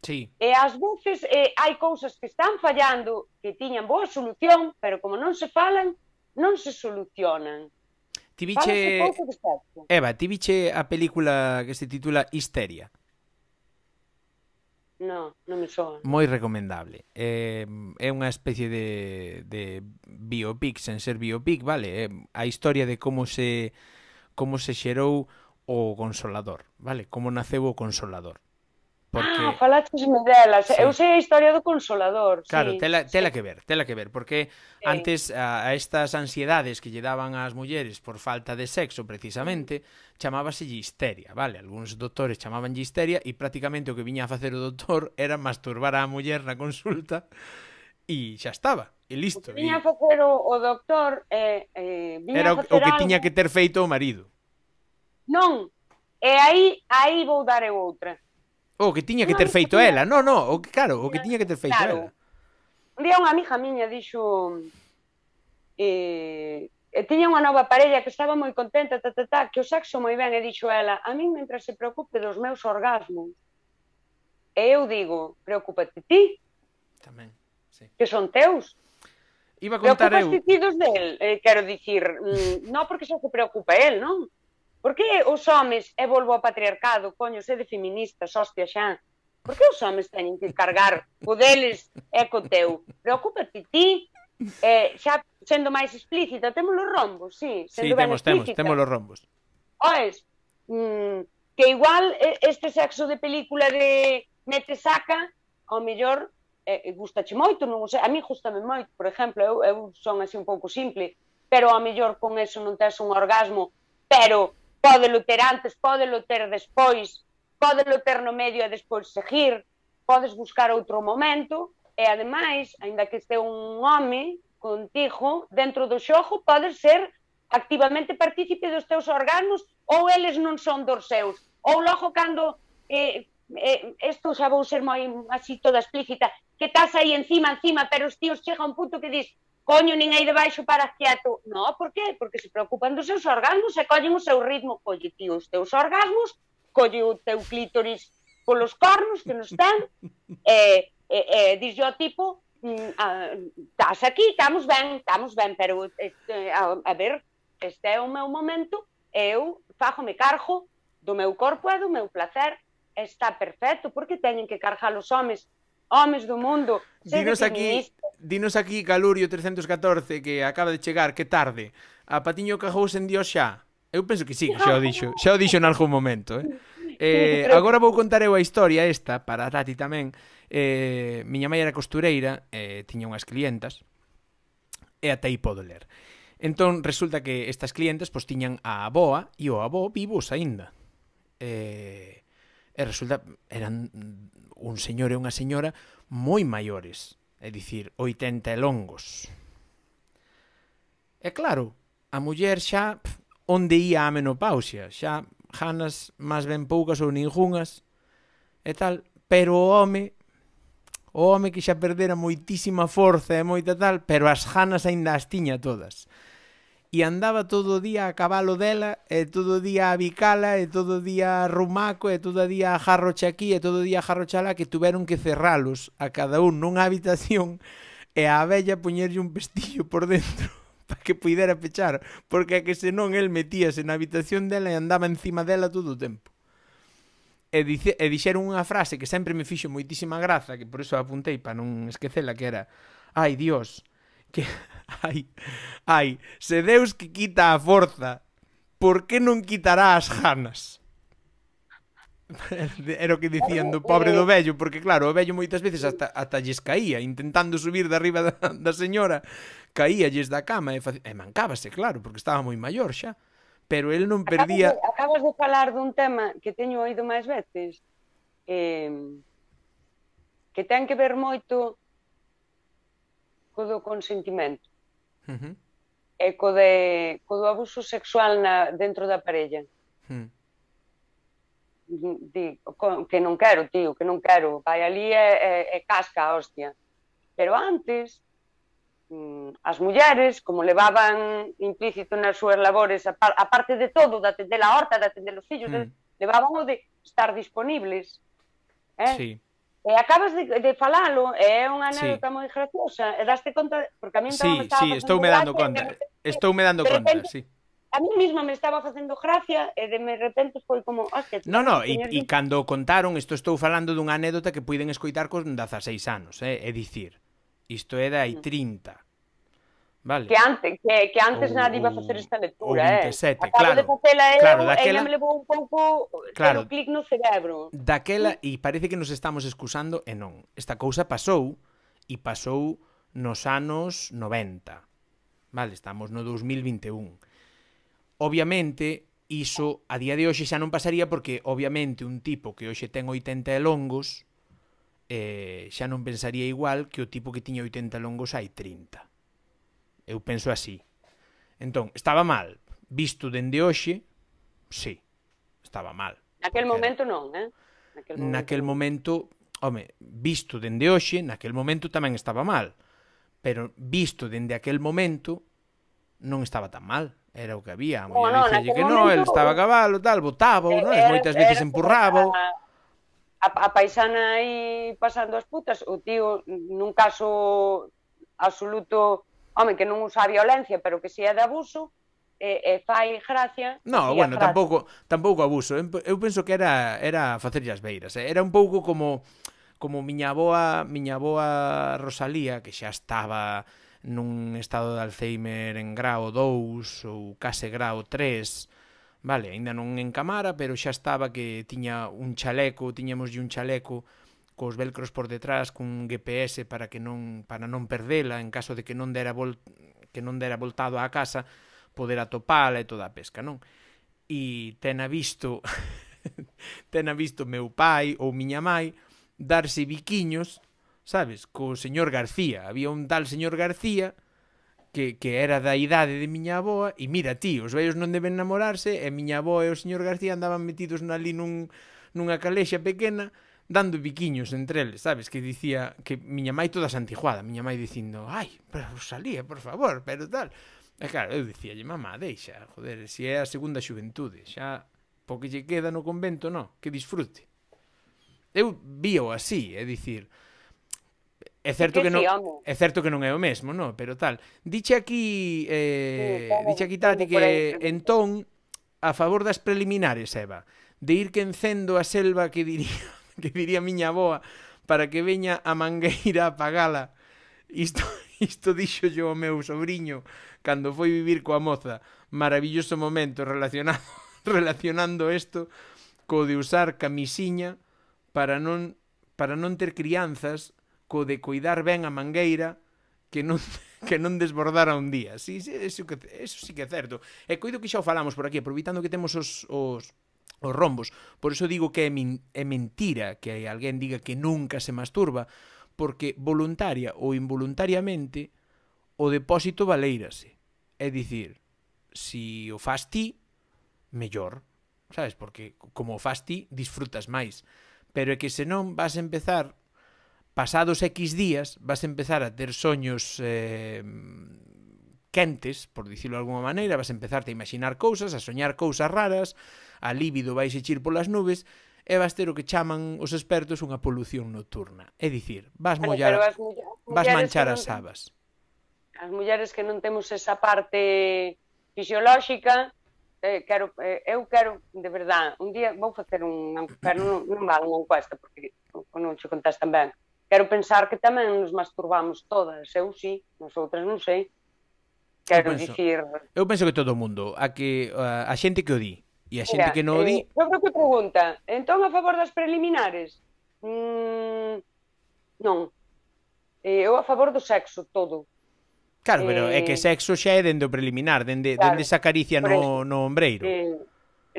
Sí.
E ás veces eh, hai cousas que están fallando que tiñan boa solución, pero como non se falan, non se solucionan.
Ti
Fálase
viche...
pouco de sexo.
Eva, ti viche a película que se titula Histeria?
Non, non me soa.
Moi recomendable. Eh, é unha especie de, de biopic, sen ser biopic, vale? É a historia de como se como se xerou o Consolador, vale? Como naceu o Consolador. Porque...
Ah, falatesme delas.
Sí.
Eu sei a historia do Consolador.
Claro,
sí,
tela, tela
sí.
que ver, tela que ver, porque
Sí.
antes a, a estas ansiedades que lle daban ás mulleres por falta de sexo, precisamente, chamábase histeria, vale? Algúns doutores chamaban histeria e prácticamente o que viña a facer o doutor era masturbar á muller na consulta e xa estaba, e
O
listo.
que viña a facer o, o doctor eh, eh, viña
Era
a
o,
facer
o que
algo...
tiña que ter feito o marido.
Non, e aí, aí vou dar eu outra.
O que tiña que
Non,
ter feito
tiña...
ela, no, no, o que, claro, o que tiña que ter feito
claro.
ela.
Un día unha amiga miña dixo eh, e tiña unha nova parella que estaba moi contenta, ta, ta, ta, que o sexo moi ben, e dixo ela, a min mentre se preocupe dos meus orgasmos. E eu digo, preocúpate ti,
Tamén, sí.
que son teus.
Iba a contar eu...
Preocupas ti dos del, eh, quero dicir, mm, non porque xa se preocupa el, non? Por que os homes, e volvo ao patriarcado, coño, sede feministas, hostia xa, por que os homes teñen que cargar o deles e co teu? Preocúpate ti, eh, xa sendo máis explícita, temos os rombos, sí,
Sí,
sendo ben
temos, temos,
explícita.
temos os rombos.
Oes, mm, que igual este sexo de película de mete saca, ao mellor eh, gustache moito, non sei, a mí gustame moito, por exemplo, eu, eu son así un pouco simple, pero ao mellor con eso non tes un orgasmo, pero pódelo ter antes, pódelo ter despois, pódelo ter no medio e despois seguir, podes buscar outro momento, e ademais, aínda que este un home contigo, dentro do xogo, podes ser activamente partícipe dos teus orgasmos, ou eles non son dos seus, ou logo cando, eh, eh, isto xa vou ser moi así toda explícita, que estás aí encima, encima, pero os tíos chega un punto que dis, coño, nin aí debaixo para quieto. No, por qué? Porque se preocupan dos seus orgasmos e collen o seu ritmo. Colle, tío, os teus orgasmos, colle o teu clítoris polos cornos que nos ten, e, e, e dixo ao tipo, estás aquí, estamos ben, estamos ben, pero este, a, a ver, este é o meu momento, eu fájome cargo do meu corpo e do meu placer, está perfecto, porque teñen que cargar os homes, homes do mundo,
Dinos aquí, dinos aquí Calurio trescentos catorce que acaba de chegar, que tarde. A Patiño cajouse en Dios xa. Eu penso que sí, que xa o dixo, xa o dixo en algún momento, eh. Eh, agora vou contar eu a historia esta para a Tati tamén. Eh, miña mãe era costureira, eh, tiña unhas clientas e até aí podo ler. Entón resulta que estas clientes pois tiñan a aboa e o avó vivos aínda. Eh, e resulta eran un señor e unha señora moi maiores, é dicir, oitenta e longos. E claro, a muller xa pf, onde ia a menopausia, xa ganas máis ben poucas ou ningunhas e tal, pero o home o home que xa perdera moitísima forza e moita tal, pero as ganas aínda as tiña todas. E andaba todo o día a cabalo dela, e todo o día a bicala, e todo o día a rumaco, e todo o día a jarroche aquí, e todo o día a jarroche alá, que tuveron que cerralos a cada un nunha habitación e a abella poñerlle un pestillo por dentro para que puidera pechar, porque é que senón el metíase na habitación dela e andaba encima dela todo o tempo. E, dice, e dixeron unha frase que sempre me fixo moitísima graza, que por iso apuntei para non esquecela, que era: ai, Dios, que ai, ai, se Deus que quita a forza, por que non quitará as ganas? Era o que dicían do pobre do vello, porque claro, o vello moitas veces hasta, hasta lles caía, intentando subir de arriba da, da señora, caíalles da cama e, fac... e mancábase, claro, porque estaba moi maior xa. Pero el non perdía...
Acabas de, acabas de falar dun tema que teño oído máis veces, eh, que ten que ver moito co do consentimento.
Uh -huh.
E co, de, co do abuso sexual na, dentro da parella.
Uh -huh.
Di, que non quero, tío, que non quero. Vai ali e, e, e casca a hostia. Pero antes, as mulleres, como levaban implícito nas súas labores, a, a parte de todo, de atender a horta, de atender os fillos, mm. de, levaban o de estar disponibles. Eh?
Sí.
E acabas de, de falalo, e é unha anécdota sí. moi graciosa, e daste conta, porque a mí
sí,
me estaba
sí, estou me dando conta, estou me dando conta, repente, sí.
A mí mesma me estaba facendo gracia e de repente foi como, hostia...
No, no, e, e cando contaron, isto estou falando dunha anécdota que puiden escoitar con dezaseis anos, eh? É dicir, isto é de hai trinta. Vale.
Que antes, que, que antes ou, nadie iba a facer esta lectura,
veintisiete,
eh? Acabo
claro.
de facela eu,
claro,
ela
daquela...
me levou un pouco claro, ter o clic no cerebro.
Daquela, e parece que nos estamos excusando, e non. Esta cousa pasou, e pasou nos anos noventa. Vale, estamos no dos mil vinte e un. Obviamente, iso a día de hoxe xa non pasaría porque, obviamente, un tipo que hoxe ten oitenta e longos eh, xa non pensaría igual que o tipo que tiña oitenta longos hai trinta. Eu penso así. Entón, estaba mal. Visto dende hoxe, sí, estaba mal.
Naquel momento non, eh?
Naquel momento, naquel momento home, visto dende hoxe, naquel momento tamén estaba mal. Pero visto dende aquel momento, non estaba tan mal. Era o que había. A
muller no, no,
dicía que non, el estaba a cabalo, tal, botaba, non? Moitas veces empurraba.
A, a paisana aí pasando as putas, o tío, nun caso absoluto... Home, que non usa a violencia, pero que si é de abuso, e, e fai gracia...
No, bueno, gracia. tampouco tampouco abuso. Eu penso que era era facerlle as beiras. Eh? Era un pouco como como miña avoa, miña avoa Rosalía, que xa estaba nun estado de Alzheimer en grao dous ou case grao tres, vale, aínda non encamara, pero xa estaba que tiña un chaleco, tiñamoslle un chaleco cos velcros por detrás, cun G P S para que non para non perdela en caso de que non dera vol, que non dera voltado á casa, poder atopala e toda a pesca, non? E tena visto tena visto meu pai ou miña mai darse biquiños, sabes, co señor García. Había un tal señor García que, que era da idade de miña avoa e mira, tío, os vellos non deben namorarse e miña avoa e o señor García andaban metidos ali nun, nunha calexa pequena dando biquiños entre eles, sabes? Que dicía que miña mai toda santiguada, miña mai dicindo, ai, pero Rosalía, por favor, pero tal. E claro, eu dicíalle, mamá, deixa, joder, se é a segunda xuventude, xa, porque lle queda no convento, no, que disfrute. Eu vío así, é dicir, é certo que, que non, é certo que non é o mesmo, no, pero tal. Diche aquí, eh, sí, diche aquí Tati que entón a favor das preliminares, Eva, de ir quencendo a selva que diría que diría miña avoa, para que veña a mangueira a pagala. Isto, isto dixo yo ao meu sobrinho cando foi vivir coa moza. Maravilloso momento relacionado, relacionando isto co de usar camisiña para non, para non ter crianzas, co de cuidar ben a mangueira que non, que non desbordara un día. Sí, sí, eso, que, eso sí que é certo. E coido que xa o falamos por aquí, aproveitando que temos os... os os rombos. Por eso digo que é, min, é mentira que alguén diga que nunca se masturba, porque voluntaria ou involuntariamente o depósito valeírase. É dicir, si o fas ti, mellor, sabes? Porque como o fas ti, disfrutas máis. Pero é que senón vas a empezar, pasados X días, vas a empezar a ter soños eh, quentes, por dicirlo de alguma maneira, vas a empezarte a imaginar cousas, a soñar cousas raras, a líbido vais a chir polas nubes e vas ter o que chaman os expertos unha polución nocturna. É dicir, vas mollar, as mulleres, vas manchar as sabas.
As mulleres que non temos esa parte fisiolóxica, eh, quero, eh, eu quero, de verdade, un día vou facer un, pero non, non vale unha encuesta, porque non che contestan ben. Quero pensar que tamén nos masturbamos todas, eu sí, nosotras non sei. Quero
eu penso,
dicir...
Eu penso que todo o mundo, a, que, a, a xente que o di, e a xente
Mira,
que non o di...
Eh, eu creo que pregunta, entón a favor das preliminares? Mm, non. Eh, eu a favor do sexo, todo.
Claro, pero eh, é que sexo xa é dende o preliminar, dende, claro, dende esa caricia no, no ombreiro.
Eh,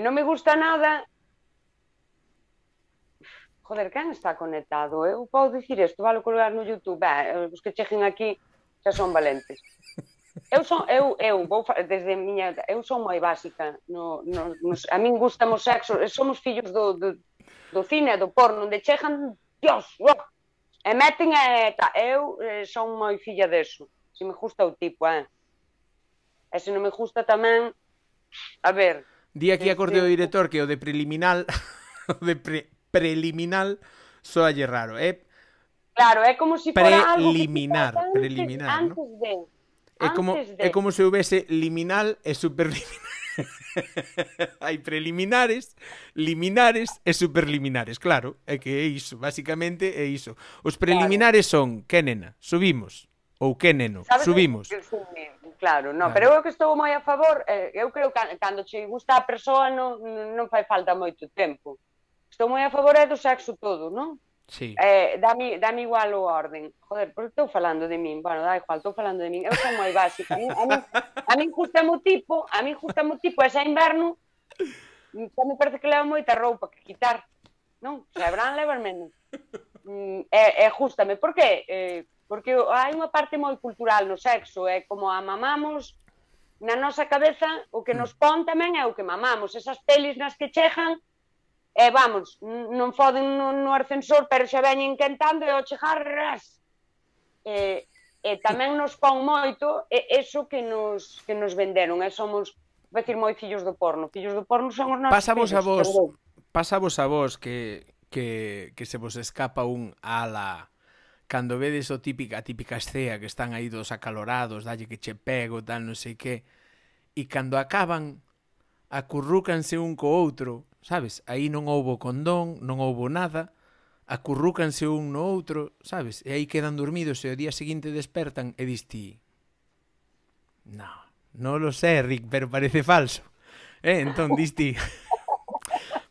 non me gusta nada... Joder, quen está conectado? Eu podo dicir isto, vale colgar no YouTube. Eh, os que cheguen aquí... xa son valentes. Eu son, eu, eu, vou, desde miña, eu son moi básica, no, no, nos, a min gustan os sexos, somos fillos do, do, do cine, do porno, onde chegan, dios, oh, e meten e ta, eu eh, son moi filla deso, se me gusta o tipo, eh. E se non me gusta tamén, a ver...
Di aquí acorde o director que o de preliminar, o de pre, preliminar, soalle raro, é...
Claro, é como se fora algo que
preliminar,
antes,
preliminar,
antes
¿no?
de...
É como,
de...
é como se houvese liminal e superliminal. Hai preliminares, liminares e superliminares, claro, é que é iso, basicamente é iso. Os preliminares son, que nena, subimos, ou que neno,
¿sabes?
subimos.
Sí, claro, no,
claro.
Pero eu que estou moi a favor, eh, eu creo que cando che gusta a persoa non, non fai falta moito tempo. Estou moi a favor é do sexo todo, non?
Sí.
Eh, dame, dame igual o orden. Joder, porque estou falando de min? Bueno, da igual, estou falando de min. Eu son moi básica. A min, a min, a min gusta mo tipo, a min gusta mo tipo, ese inverno, xa me parece que leva moita roupa que quitar. Non? Se habrán levar menos. Mm, e, e justame. Por que? Eh, porque hai unha parte moi cultural no sexo, é como a mamamos na nosa cabeza, o que nos pon tamén é o que mamamos. Esas pelis nas que chegan, e vamos, non foden no, no ascensor, pero xa veñen quentando e ao chegar, ras. E, e tamén nos pon moito e eso que nos, que nos venderon, e somos, vou decir, moi fillos do porno. Fillos do porno son os nosos
Pasavos
fillos.
a vos,
perdón.
pasavos a vos que, que, que se vos escapa un ala cando vedes o típica, a típica escea que están aí dos acalorados, dalle que che pego, tal, non sei que, e cando acaban, acurrúcanse un co outro, sabes? Aí non houbo condón, non houbo nada, acurrúcanse un no outro, sabes? E aí quedan dormidos e o día seguinte despertan e dis ti, no, non lo sé, Rick, pero parece falso. Eh, entón dis ti,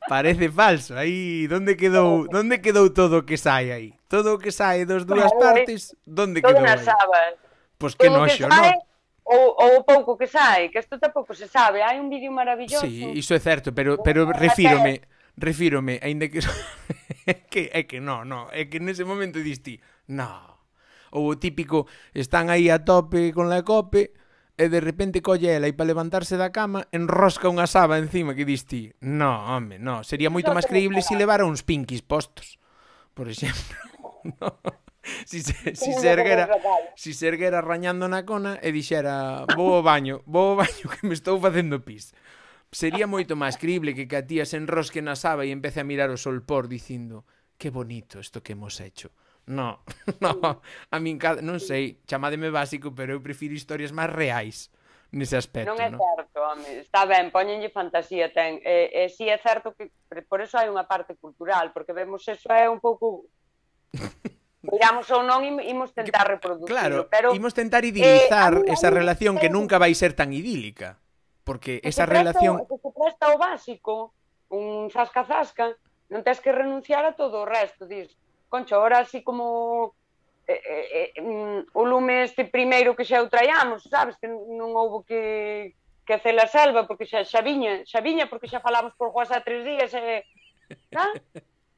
parece falso. Aí, onde quedou, onde quedou todo o que sai aí? Todo o que sai dos dúas partes, onde
Todo
quedou
nas
aí?
sabas.
Pois que
Todo o
noxo,
sai,
non?
ou, ou o pouco que sai, que isto tampouco se sabe. Hai un vídeo maravilloso.
Sí, iso é certo, pero pero refírome, refírome, aínda que que é que no, no, é que nese momento diste, no. Ou o típico, están aí a tope con la cope e de repente colle ela e para levantarse da cama enrosca unha saba encima que diste, no, home, no, sería moito máis creíble se levara uns pinquis postos, por exemplo. No. Si se, si se erguera si se erguera rañando na cona e dixera vou ao baño, vou ao baño que me estou facendo pis. Sería moito máis creíble que que a tía se enrosque na saba e empece a mirar o solpor dicindo que bonito isto que hemos hecho. No, no, a min non sei, chamádeme básico, pero eu prefiro historias máis reais nese aspecto,
non é
no?
certo, home, está ben, poñenlle fantasía, ten, e, e si é certo que por eso hai unha parte cultural, porque vemos eso é un pouco digamos ou non, imos tentar reproducirlo,
claro,
pero
imos tentar idilizar
eh,
esa relación que nunca vai ser tan idílica, porque esa relación...
Que se presta o básico, un zasca-zasca, non tens que renunciar a todo o resto, dis, concho, ahora así como eh, eh, eh, o lume este primeiro que xa o traíamos, sabes, que non houbo que que hacer a selva, porque xa, xa viña, xa viña, porque xa falamos por WhatsApp tres días, e, ah?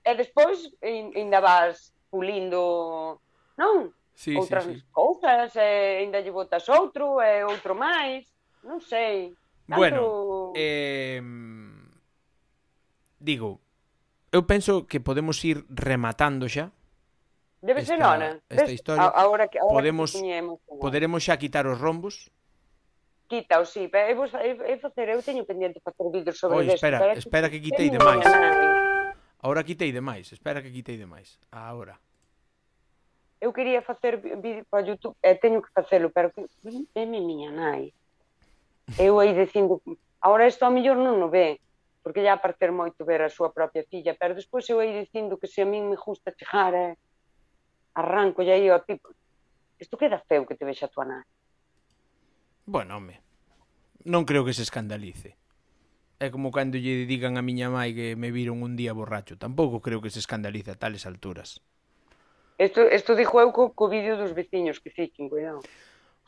e despois ainda vas pulindo, non?
Sí,
Outras
sí, sí.
cousas, e ainda lle botas outro, e outro máis, non sei. Tanto...
Bueno, eh, digo, eu penso que podemos ir rematando xa.
Debe ser hora.
Esta historia.
A, ahora que, ahora
podemos,
que tiñemos,
poderemos xa quitar os rombos.
Quita, sí, pero eu, vos, eu, eu, facer, eu teño pendiente facer vídeos sobre
Oi,
isto.
espera, espera que quitei demais. Ahora quitei demais, espera que quitei demais. Ahora.
Eu quería facer vídeo para YouTube, e teño que facelo, pero que veme miña nai. Eu aí dicindo, ahora isto a mellor non o ve, porque ya parecer moito ver a súa propia filla, pero despois eu aí dicindo que se a min me gusta chegar, eh, arranco e aí o tipo, isto queda feo que te vexa a tua nai.
Bueno, home, non creo que se escandalice. É como cando lle digan a miña mai que me viron un día borracho. Tampouco creo que se escandalice a tales alturas.
Isto, isto dixo eu co, co vídeo dos veciños que fiquen, cuidado.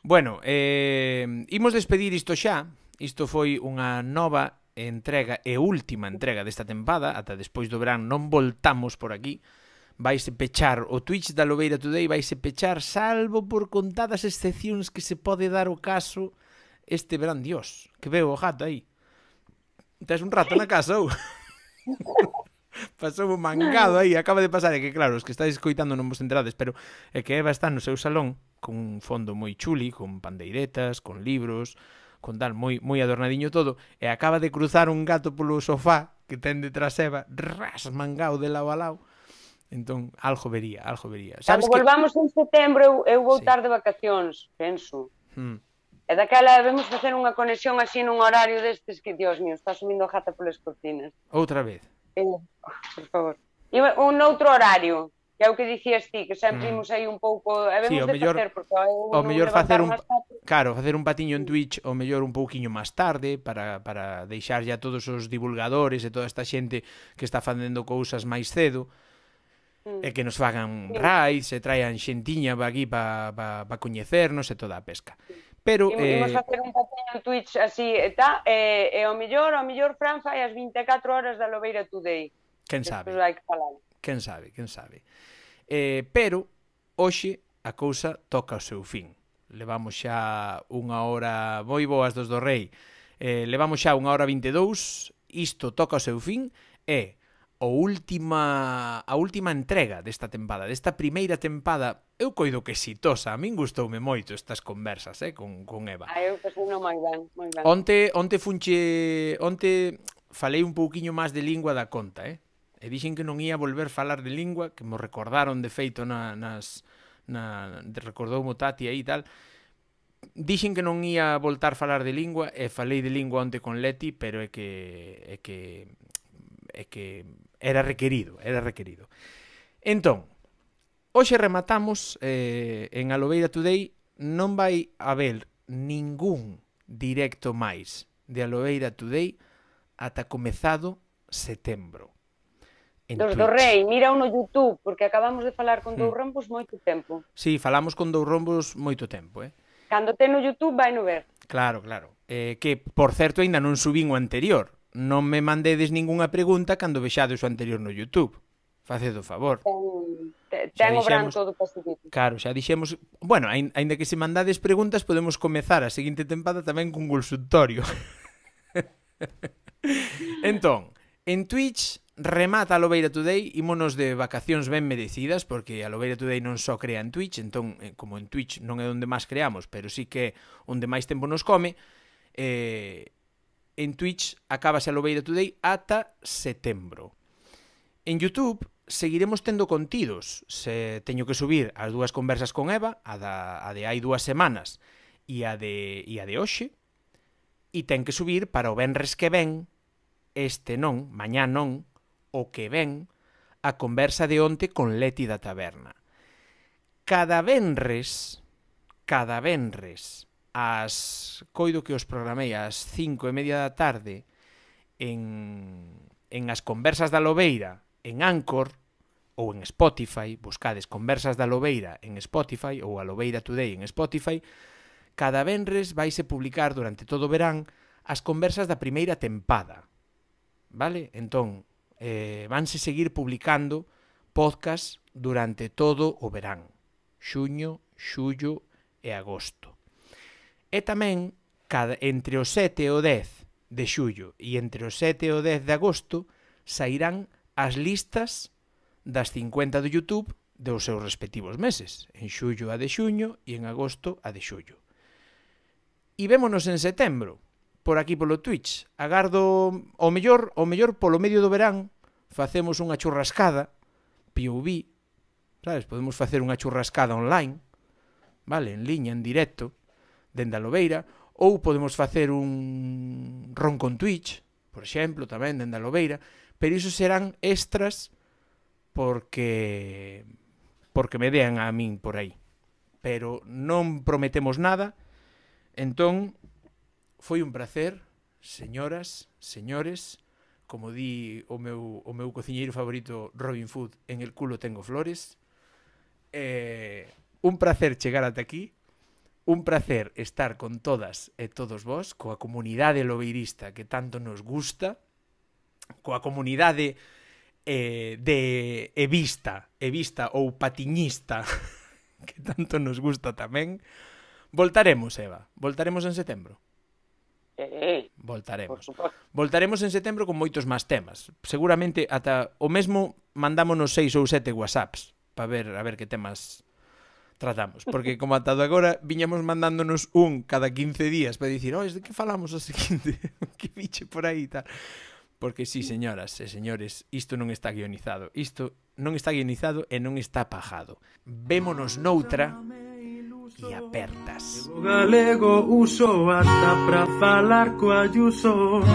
Bueno, eh, imos despedir isto xa. Isto foi unha nova entrega e última entrega desta tempada. Ata despois do verán non voltamos por aquí. vaise pechar, o Twitch da Lobeira Today vaise pechar, salvo por contadas excepcións que se pode dar o caso este verán. Dios, que veo o gato aí. Tes un rato na casa, ou? Pasou un mangado aí, acaba de pasar. É que claro, os que estáis escoitando non vos enterades, pero é que Eva está no seu salón con un fondo moi chuli, con pandeiretas, con libros, con tal, moi, moi adornadiño todo, e acaba de cruzar un gato polo sofá que ten detrás Eva, ras, mangado de lado a lado. Entón, algo vería, algo vería.
Cando
que...
volvamos en setembro, eu, eu vou
sí.
estar de vacacións, penso.
Hmm.
E daquela debemos facer unha conexión así nun horario destes que, Dios mío, está subindo a gata polas cortinas.
Outra vez.
Eh, por favor. E un outro horario, que é o que dicías ti, que sempre
Mm.
imos aí un pouco, debemos
Sí, o
de
mellor,
facer, porque eu
o
non
mellor
levantar
facer un,
máis tarde.
claro, facer un patiño en Twitch, o mellor un pouquiño máis tarde, para, para deixar ya todos os divulgadores e toda esta xente que está facendo cousas máis cedo,
Mm.
e que nos fagan
Sí.
raids, e traian xentiña pa aquí para pa, pa coñecernos e toda a pesca. Pero,
Imos,
eh,
imos facer un patiño en Twitch así, e tá, e, e o mellor, o mellor Fran fai as vinte e catro horas da Lobeira Today.
quen sabe,
Despois hai que falar.
quen sabe, quen sabe. Eh, pero, hoxe, a cousa toca o seu fin. Levamos xa unha hora moi boas dos do Rei. Eh, levamos xa unha hora vinte e dous, isto toca o seu fin, e o última, a última entrega desta tempada, desta primeira tempada, eu coido que exitosa. A min gustoume moito estas conversas, eh, con, con Eva.
Ah, eu pasei no moi ben, moi ben.
Onte, onte funche, onte falei un pouquiño máis de lingua da conta, eh? E dixen que non ia volver falar de lingua, que mo recordaron de feito na, nas, na, recordou mo Tati aí e tal. Dixen que non ia voltar a falar de lingua, e falei de lingua onte con Leti, pero é que, é que, é que era requerido, era requerido. Entón, hoxe rematamos eh, en Alobeira Today, non vai haber ningún directo máis de Alobeira Today ata comezado setembro.
Dos do Rei, mira no YouTube, porque acabamos de falar con dous rombos moito tempo.
Sí, falamos con dous rombos moito tempo, eh?
Cando ten no YouTube, vai no ver.
Claro, claro. Eh, que, por certo, aínda non subín o anterior. Non me mandedes ningunha pregunta cando vexades o anterior no YouTube. Faced o favor.
Ten, ten o branco do Pacífico.
Claro, xa dixemos... Bueno, aínda que se mandades preguntas, podemos comezar a seguinte tempada tamén con consultorio. Entón, en Twitch remata a Lobeira Today, ímonos de vacacións ben merecidas, porque a Lobeira Today non só crea en Twitch, entón, como en Twitch non é onde máis creamos, pero sí que é onde máis tempo nos come, eh, en Twitch acabase a Lobeira Today ata setembro. En YouTube seguiremos tendo contidos, se teño que subir as dúas conversas con Eva, a, da, a de hai dúas semanas e a de, e a de hoxe, e ten que subir para o venres que ven, este non, mañá non, o que ven, a conversa de onte con Leti da Taberna. Cada venres, cada venres, as, coido que os programei ás cinco e media da tarde en, en as conversas da Lobeira, en Anchor ou en Spotify, buscades conversas da Lobeira en Spotify ou a Lobeira Today en Spotify, cada venres vaise publicar durante todo o verán as conversas da primeira tempada. Vale? Entón, eh, vanse seguir publicando podcast durante todo o verán. Xuño, xullo e agosto. E tamén, cada, entre o sete e o dez de xullo e entre o sete e o dez de agosto, sairán as listas das cincuenta do YouTube dos seus respectivos meses. En xullo a de xuño e en agosto a de xullo. E vémonos en setembro, por aquí polo Twitch. Agardo o mellor, o mellor polo medio do verán facemos unha churrascada P O V, sabes? Podemos facer unha churrascada online, vale, en liña, en directo, dende a Lobeira, ou podemos facer un ron con Twitch, por exemplo, tamén dende a Lobeira, pero iso serán extras porque porque me dean a min por aí. Pero non prometemos nada. Entón, foi un placer, señoras, señores, como di o meu, o meu cociñeiro favorito Robin Hood, en el culo tengo flores. Eh, un placer chegar ata aquí, un placer estar con todas e todos vos, coa comunidade lobeirista que tanto nos gusta, coa comunidade eh, de Evista, Evista ou Patiñista, que tanto nos gusta tamén. Voltaremos, Eva, voltaremos en setembro.
Eh,
Voltaremos.
por suposto.
Voltaremos en setembro con moitos máis temas. Seguramente ata o mesmo mandámonos seis ou sete WhatsApps para ver a ver que temas tratamos, porque como atado agora viñamos mandándonos un cada quince días para dicir, oh, de que falamos o seguinte? Que biche por aí tal. Porque sí, señoras e señores, isto non está guionizado. Isto non está guionizado e non está pajado. Vémonos noutra e apertas.
O galego uso ata pra falar co Ayuso.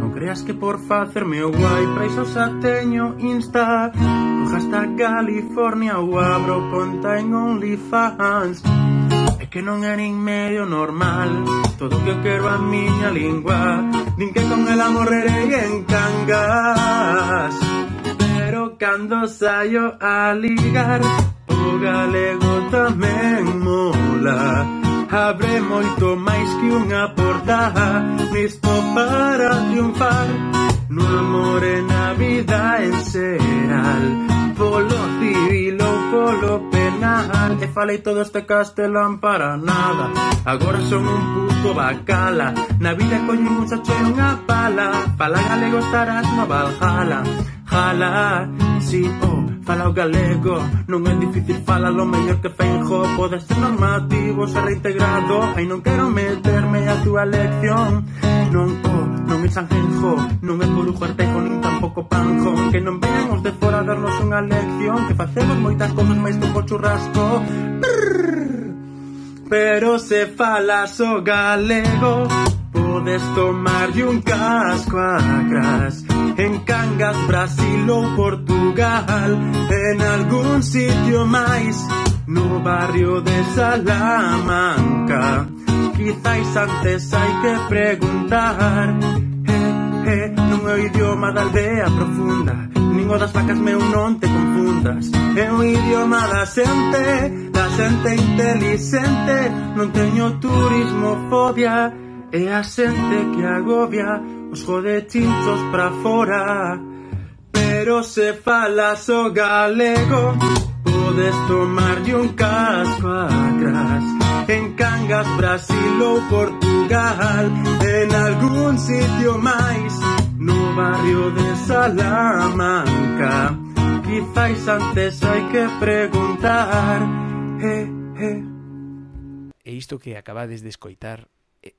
Non creas que por facerme o guai pra iso xa teño Insta. Coja hasta California ou abro conta en OnlyFans. É que non é nin medio normal todo o que eu quero a miña lingua. Din que con ela morrerei en Cangas. Pero cando saio a ligar, o galego tamén mola. Abre moito máis que unha porta, listo para triunfar no amor e na vida en xeral, polo civil ou polo penal. E falei todo este castelán para nada, agora son un puto bacala. Na vida coño un sacho e unha pala, fala galego estarás no Valhalla. Jala, si, oh, fala o galego, non é difícil, fala lo mellor que Feijóo. Pode ser normativo, ser reintegrado, ai non quero meterme a túa lección. Non, oh, non é Sanjenjo, non é Corujo Artejo, nin tampouco Panjón. Que non veñan os de fora a darnos unha lección, que facemos moitas cousas máis que o churrasco. Brrr. Pero se falas o galego, podes tomarlle un casco a cras. En Cangas, Brasil ou Portugal, en algún sitio máis, no barrio de Salamanca. Quizáis antes hai que preguntar. Eh, eh, non é o idioma da aldea profunda, nin o das vacas, meu, non te confundas. É o idioma da xente, da xente inteligente. Non teño turismofobia, é a xente que agobia os jodechinchos pra fora. Pero se falas o galego, podes tomarlle un casco a cras. En Cangas, Brasil ou Portugal, en algún sitio máis, no barrio de Salamanca. Quizáis antes hai que preguntar. Eh, eh.
E isto que acabades de escoitar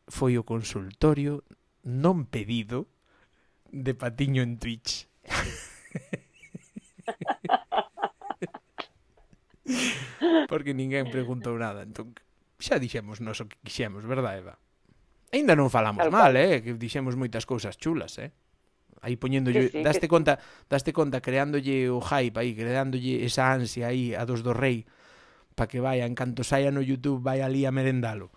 foi o consultorio non pedido de Patiño en Twitch. Porque ninguén preguntou nada, entón xa dixemos nos o que quixemos, verdad, Eva? Ainda non falamos mal, eh, que dixemos moitas cousas chulas, eh. Aí poñéndolle, sí, sí, daste que... conta, daste conta creándolle o hype aí, creándolle esa ansia aí a dos do rei, para que vaya, en canto saia no YouTube, vai ali a merendalo.